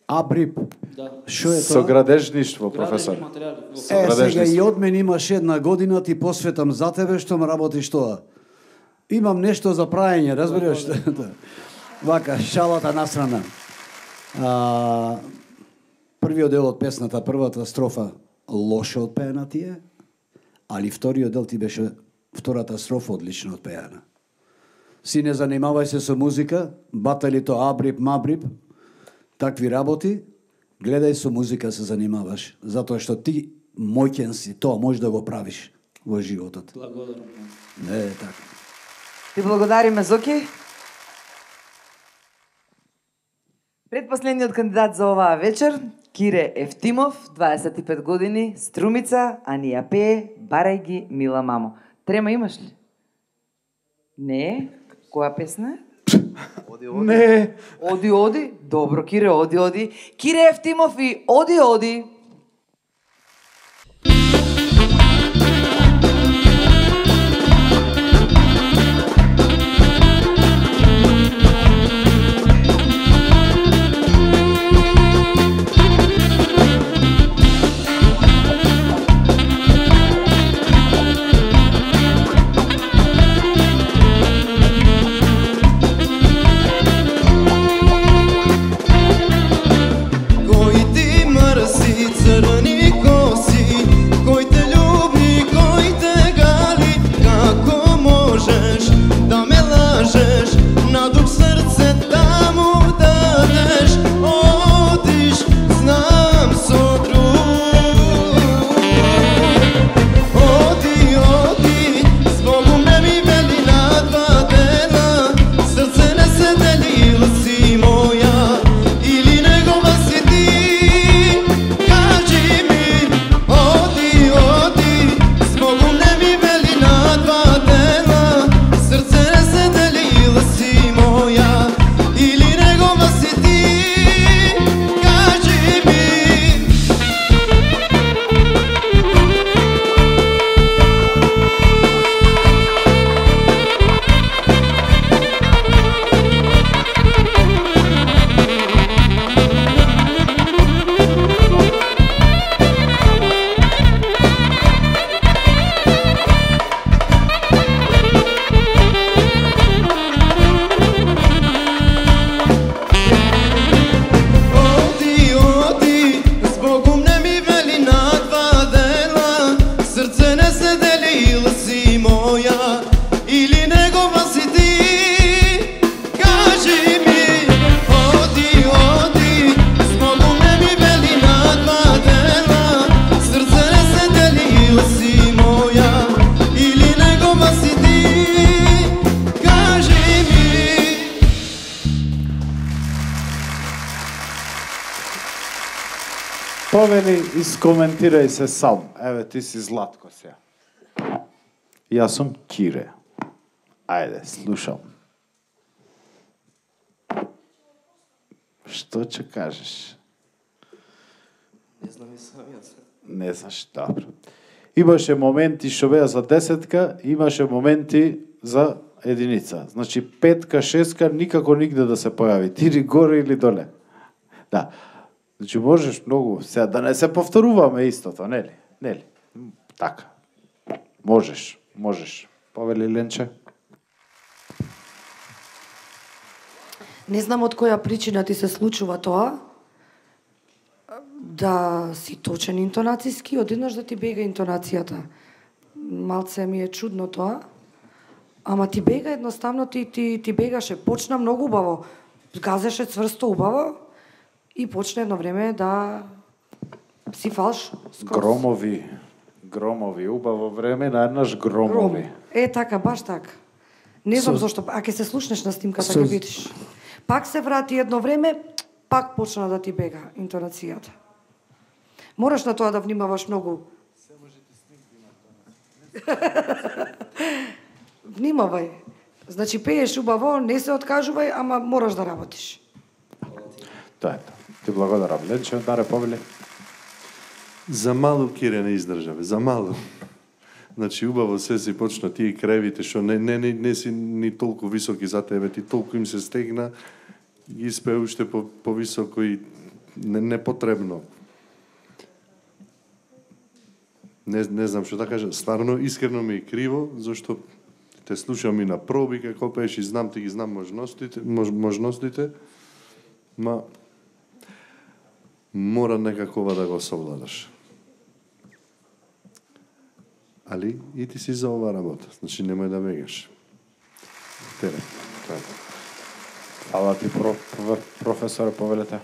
Абрип? Да. Што е тоа? Со градежништво, професор. Градежни материјали. Е, сега и од мен имаш една година, ти посветам за тебе, што ме работиш тоа. Имам нешто за праење, разбираш? Вака, шалата насрана. А, првиот дел од песната, првата строфа, лошо одпеана ти е, али вториот дел ти беше втората строфа одлично одпеана. Си не занимавај се со музика, батали то Абрип, Мабрип, такви работи, гледај со музика се занимаваш, затоа што ти моќен си, тоа можеш да го правиш во животот. Благодарам. Не е така. Ти благодариме, Зоки. Предпоследниот кандидат за оваа вечер, Кире Ефтимов, дваесет и пет години, Струмица, а ни ја пее Барај ги, мила мамо. Трема имаш ли? Не. Која песна е? Оди, оди. Не. Оди, оди. Добро, Кире, оди, оди. Кире Ефтимов и Оди, оди. Повели, искоментирај се сам. Еве, ти си Златко сега. Јас сум Кире. Ајде, слушам. Што ќе кажеш? Не знам и сам јас. Не знаеш, добро. Имаше моменти што беа за десетка, имаше моменти за единица. Значи, петка, шестка, никако нигде да се појави. Тири горе или доле. Да. Значи можеш многу, сега да не се повторуваме истото, нели? Нели? Така. Можеш, можеш. Повели Ленче. Не знам од која причина ти се случува тоа, да си точен интонацијски, одеднаш да ти бега интонацијата. Малце ми е чудно тоа, ама ти бега едноставно, ти, ти, ти бегаше, почна многу убаво, газеше цврсто убаво и почна едно време да си фалш. Скроз. Громови, громови, убаво време, наеднаш громови. Гром. Е, така, баш така. Не знам Со- зошто, а ќе се слушнеш на снимката, Со- ќе видиш. Пак се врати едно време, пак почна да ти бега интонацијата. Мораш на тоа да внимаваш многу. Внимавај. Значи, пееш убаво, не се откажувај, ама мораш да работиш. Тоа е тоа. Ти благодарам. Ленче, даре повели. За малу Кире не издржаве, за малу. Значи убаво се си почна тие кревите што не не не, не си ни толку високи за тебе, ти толку им се стегна, ги спе уште по повисоко и не, непотребно. Не, не знам што да кажа, стварно искрено ми е криво, зашто те слушам и на проби како пееш и знам ти ги знам можностите, мож, можностите, ма мора некакова да го совладаш. Али и ти си за ова работа, значи немој да бегаш. Тере, тоа е. Ала ти про, про, професор повелете.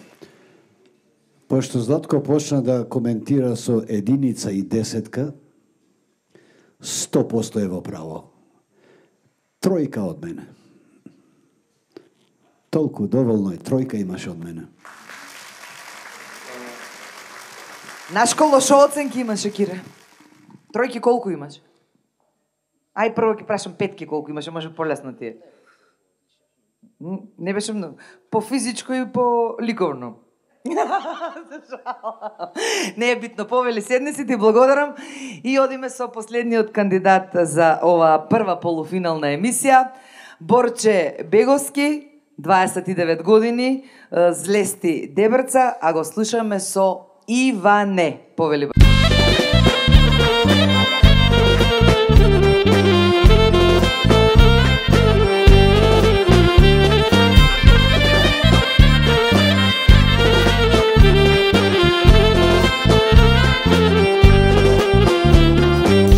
Пошто Златко почна да коментира со единица и десетка, сто проценти е во право. Тројка од мене. Толку доволно е, тројка имаш од мене. На школа шо оценки имаше, Кире? Тројки колку имаш? Ај прво ќе прашам петки колку имаше, може полесно ти е. М, Не беше многу. По физичко и по ликовно. Не е битно, повели седни си, ти благодарам и одиме со последниот кандидат за ова прва полуфинална емисија. Борче Беговски, дваесет и девет години, е, Злести Дебрца, а го слушаме со Иване. Повели.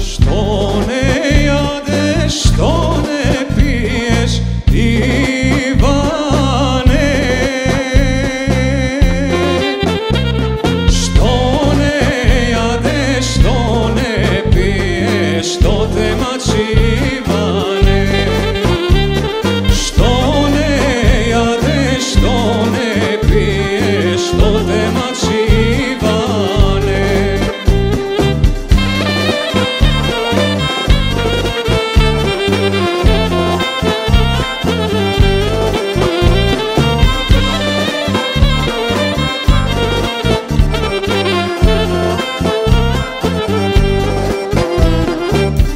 Što ne jadeš, što ne piješ, Ivane? Što ne jadeš, što ne piješ, što te mači, Ivane? Što ne jadeš, što ne piješ, što te mači, Ivane?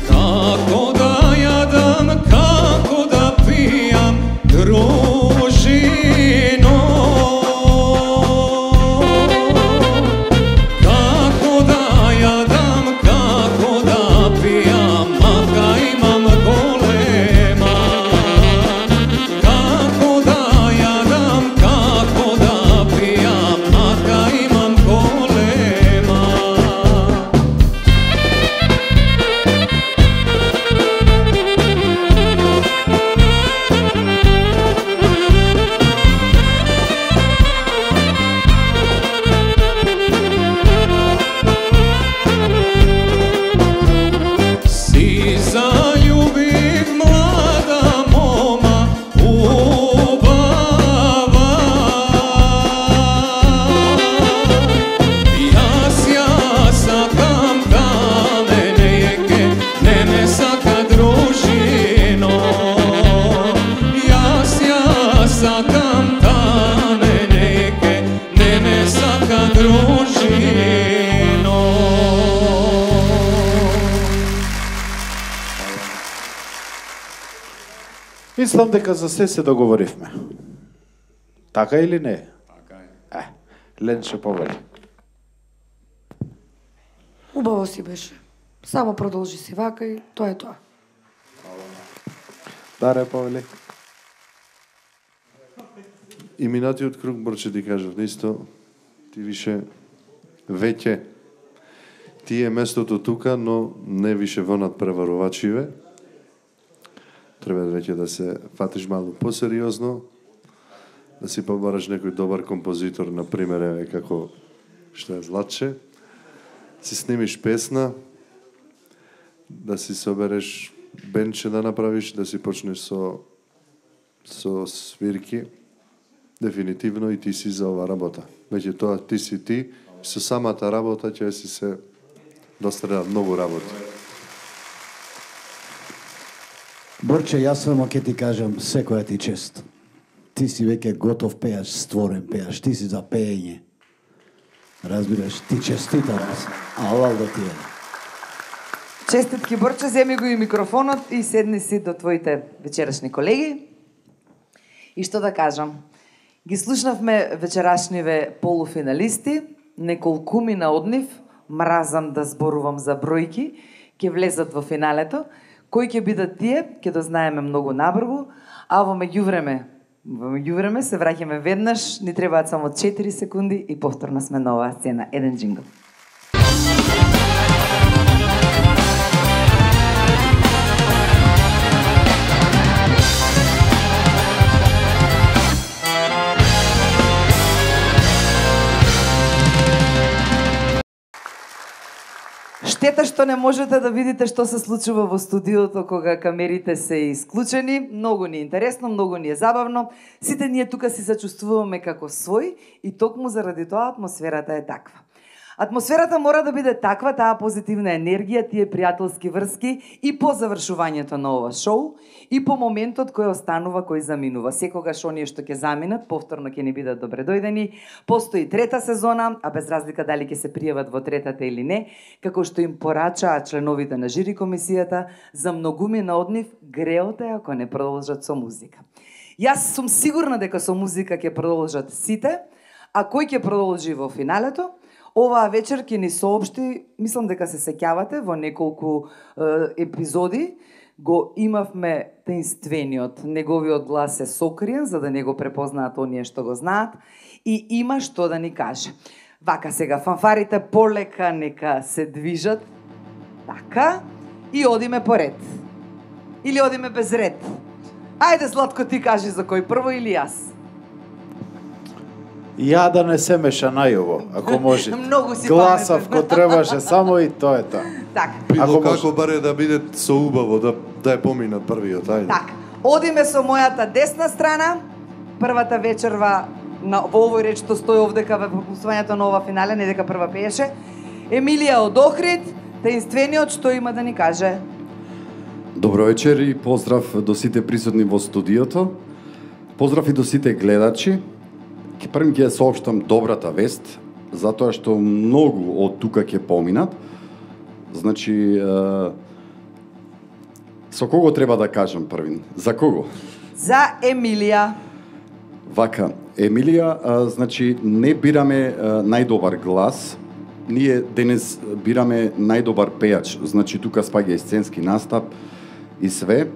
Kako da jadam, kako da pijam, družino? Kako da jadam, kako da pijam, maka imam golema. Kako da jadam, kako da pijam, maka imam golema. Si zaljubih mlada moma ubava. Jas ja sakam da mene jeke, ne me saka družino. Jas ja sakam da mene jeke, ne me saka družino. Мислам дека за се се договоривме. Така или не? Така е. Е, Ленче повели. Убаво си беше. Само продолжи си вака и тоа е тоа. Даре повели. И минатиот круг, Борче, ти кажав, исто, ти више веќе ти е местото тука, но не више во надпреварувачиве. Треба веќе да се фатиш малку посериозно, да си побараш некој добар композитор, например, еве како што е Златче, си снимиш песна, да си собереш бенче да направиш, да си почнеш со со свирки. Дефинитивно и ти си за ова работа. Веќе тоа ти си ти, со самата работа ќе си се дострена многу работи. Борче, јас само ќе ти кажам секоја ти чест. Ти си веќе готов пејач, створен пејач, ти си за пеење. Разбираш, ти честитам. Алал да ти е. Честитки, Борче, земи го и микрофонот и седни си до твоите вечерашни колеги. И што да кажам? Ги слушнавме вечерашниве полуфиналисти, неколкумина од нив, мразам да зборувам за бројки, ќе влезат во финалето. Кои ќе бидат тие, ќе дознаеме многу набрзо, а во меѓувреме, во меѓувреме се враќаме веднаш, ни требаат само четири секунди и повторно сме на оваа сцена. Еден джингл. Штета што не можете да видите што се случува во студиото кога камерите се исклучени. Многу ни е интересно, многу ни е забавно. Сите ние тука си се чувствуваме како свој и токму заради тоа атмосферата е таква. Атмосферата мора да биде таква, таа позитивна енергија, тие пријателски врски и по завршувањето на ова шоу и по моментот кој останува, кој заминува. Секогаш оние што ќе заминат, повторно ќе ни бидат добре дојдени. Постои трета сезона, а без разлика дали ќе се пријават во третата или не, како што им порачаа членовите на жири комисијата, за многумина од нив греот е ако не продолжат со музика. Јас сум сигурна дека со музика ќе продолжат сите, а кој ќе продолжи во финалето? Оваа вечер ќе ни соопшти, мислам дека се сеќавате, во неколку е, епизоди го имавме таинствениот, неговиот глас е сокриен, за да не го препознаат оние што го знаат, и има што да ни каже. Вака сега, фанфарите полека нека се движат, така, и одиме по ред. Или одиме без ред. Ајде, Златко, ти кажи за кој прво или јас? Ја да не се меша најово, ако може. Многу си Гласав паметен. ко требаше само и тоа е тоа. Така. Било како баре да биде со убаво, да, да е поминат првиот, ајде. Така. Одиме со мојата десна страна, првата вечерва на, во овој реч што стои овдека во пропуствањето на ова финале, не дека прва пееше. Емилија од Охрид, таинствениот што има да ни каже. Добро вечер и поздрав до сите присутни во студиото. Поздрав и до сите гледачи. Ке првим ќе соопштам добрата вест, затоа што многу од тука ќе поминат. Значи, е, со кого треба да кажам првин? За кого? За Емилија. Вака, Емилија, е, значи, не бираме е, најдобар глас, ние денес бираме најдобар пејач, значи тука спаѓа и сценски настап и све.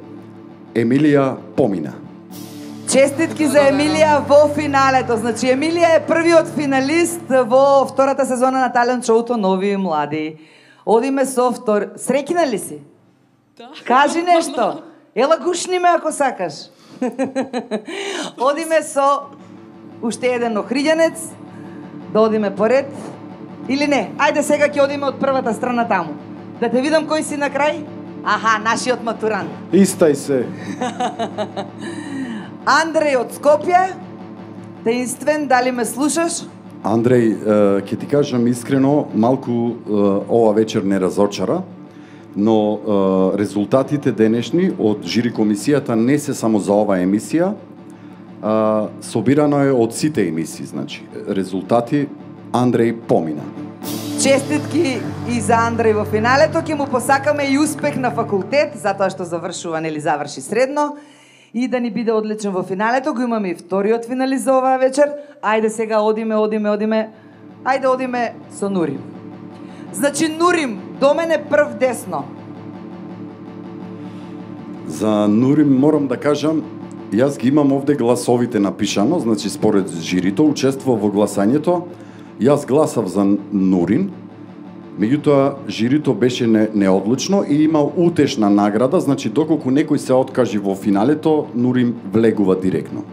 Емилија помина. Честитки за Емилија во финалето. Значи, Емилија е првиот финалист во втората сезона на талент шоуто Нови и млади. Одиме со втор... Среќна ли си? Да. Кажи нешто. Ела гушни ме ако сакаш. Одиме со уште еден охриѓанец. Да одиме поред. Или не? Ајде сега ќе одиме од првата страна таму. Да те видам кој си на крај? Аха, нашиот матурант. Истај се. Андреј од Скопје, таинствен, дали ме слушаш? Андреј, ќе ти кажам искрено, малку ова вечер не разочара, но резултатите денешни од жири комисијата не се само за оваа емисија, собирано е од сите емисии, значи. Резултати Андреј помина. Честитки и за Андреј во финалето, ќе му посакаме и успех на факултет, затоа што завршува, нели заврши средно. и да ни биде одличен во финалето. Го имаме и вториот финалист за оваа вечер. Ајде сега одиме, одиме, одиме. Ајде одиме со Нурим. Значи Нурим, до мене прв десно. За Нурим морам да кажам, јас ги имам овде гласовите напишано, значи според жирито учествува во гласањето. Јас гласав за Нурин, меѓутоа жирито беше не, неодлучно и има утешна награда, значи доколку некој се откажи во финалето, Нурин влегува директно.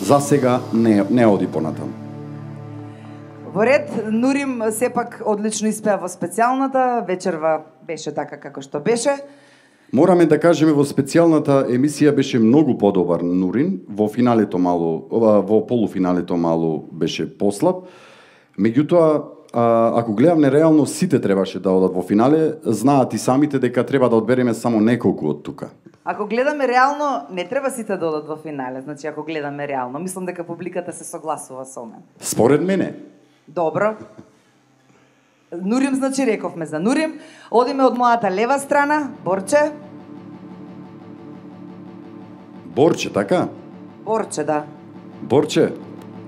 За сега не, не оди понатаму. Во ред, Нурим сепак одлично испеа во специјалната, вечерва беше така како што беше. Мораме да кажеме во специјалната емисија беше многу подобар Нурин, во финалето малку, во полуфиналето малку беше послаб. Меѓутоа, ако гледаме реално сите требаше да одат во финале, знаат и самите дека треба да одбереме само неколку од тука. Ако гледаме реално, не треба сите да одат во финале, значи ако гледаме реално, мислам дека публиката се согласува со мен. Според мене. Добро. Нурим, значи рековме за Нурим. Одиме од мојата лева страна, Борче. Борче, така? Борче, да. Борче,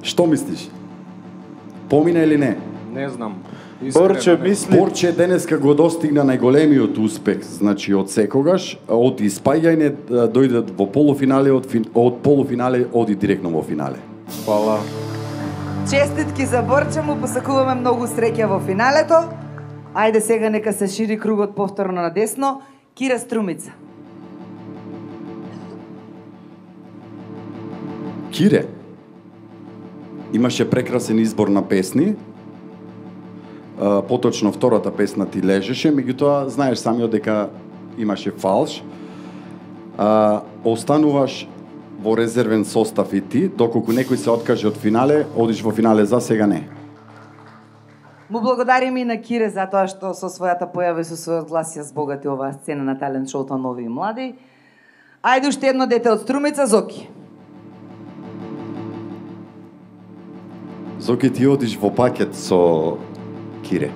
што мислиш? Помина или не? Не знам. Борче мисли... Борче денеска го достигна најголемиот успех, значи од секогаш, од испаѓање дојде во полуфинале, од, фин... од полуфинале оди директно во финале. Фала. Честитки за Борче, му посакуваме многу среќа во финалето. Ајде сега нека се шири кругот повторно на десно. Кира Струмица. Кире, имаше прекрасен избор на песни. Uh, поточно втората песна ти лежеше, меѓутоа знаеш самиот дека имаше фалш. Uh, остануваш во резервен состав и ти, доколку некој се откаже од финале, одиш во финале, за сега не. Му благодариме и на Кире за тоа што со својата појава и со својот глас ја збогати оваа сцена на талент шоуто нови и млади. Ајде уште едно дете од Струмица, Зоки. Зоки, ти одиш во пакет со Кире.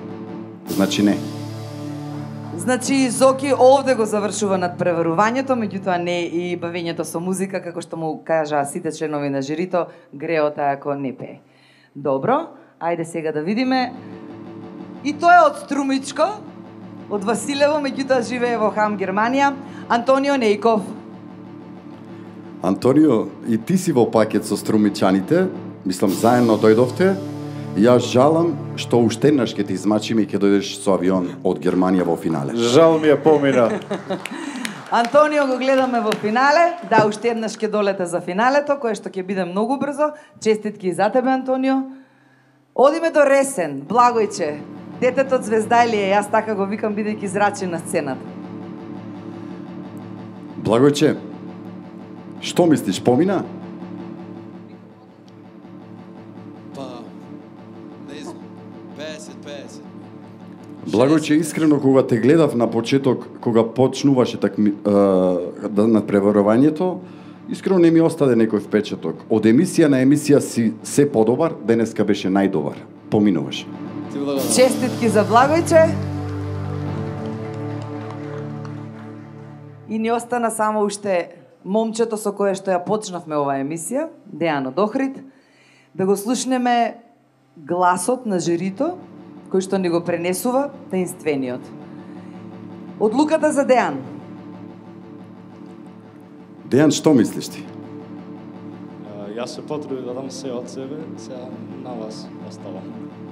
Значи не. Значи Зоки овде го завршува надпреварувањето, меѓутоа не и бавењето со музика, како што му кажаа сите членови на жирито, греота ако не пее. Добро, ајде сега да видиме. И тоа е од Струмичко, од Василево, меѓутоа живее во Хам, Германија, Антонио Нејков. Антонио, и ти си во пакет со струмичаните, мислам заедно дојдовте. Јас жалам што уште еднаш ќе те измачиме и ќе дојдеш со авион од Германија во финале. Жал ми е помина. Антонио го гледаме во финале, да, уште еднаш ќе долете за финалето, кое што ќе биде многу брзо. Честитки и за тебе, Антонио. Одиме до Ресен, Благојче, детето од Звездайлија, јас така го викам бидејќи зрачен на сцената. Благојче, што мислиш, помина? Благојче, искрено кога те гледав на почеток, кога почнуваше так да надпреварувањето, искрено не ми остаде некој впечаток. Од емисија на емисија си се подобар, денеска беше најдобар. Поминуваш. Честитки за Благојче. И ни остана само уште момчето со кое што ја почнавме оваа емисија, Дејано Дохрид, да го слушнеме гласот на жирито, кој што ни го пренесува таинствениот. Одлуката за Дејан. Дејан, што мислиш ти? Јас се потрудив да дам се од себе, сега на вас оставам.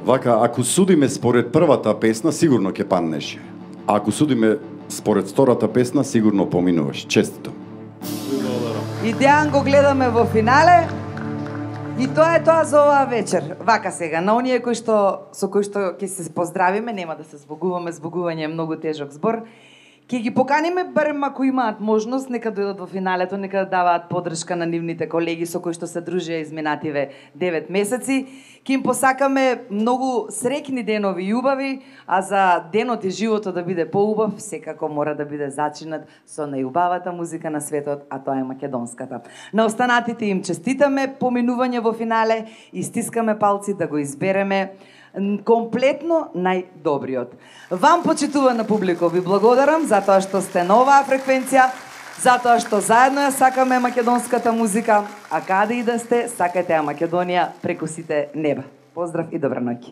Вака, ако судиме според првата песна, сигурно ќе паднеш. А ако судиме според втората песна, сигурно поминуваш. Честито. И Дејан го гледаме во финале. И тоа е тоа за оваа вечер. Вака сега, на оние кои што со кои што ќе се поздравиме, нема да се збогуваме, збогување е многу тежок збор. Ќе ги поканиме барем ако имаат можност, нека дојдат во финалето, нека даваат поддршка на нивните колеги со кои што се дружеа изминативе девет месеци. Ќе им посакаме многу среќни денови и убави, а за денот и животот да биде поубав, секако мора да биде зачинат со најубавата музика на светот, а тоа е македонската. На останатите им честитаме поминување во финале и стискаме палци да го избереме комплетно најдобриот. Вам, почитувана публико, ви благодарам за тоа што сте на оваа фреквенција, Затоа што заедно ја сакаме македонската музика, а каде и да сте, сакате ја Македонија преку сите неба. Поздрав и добра ноќ.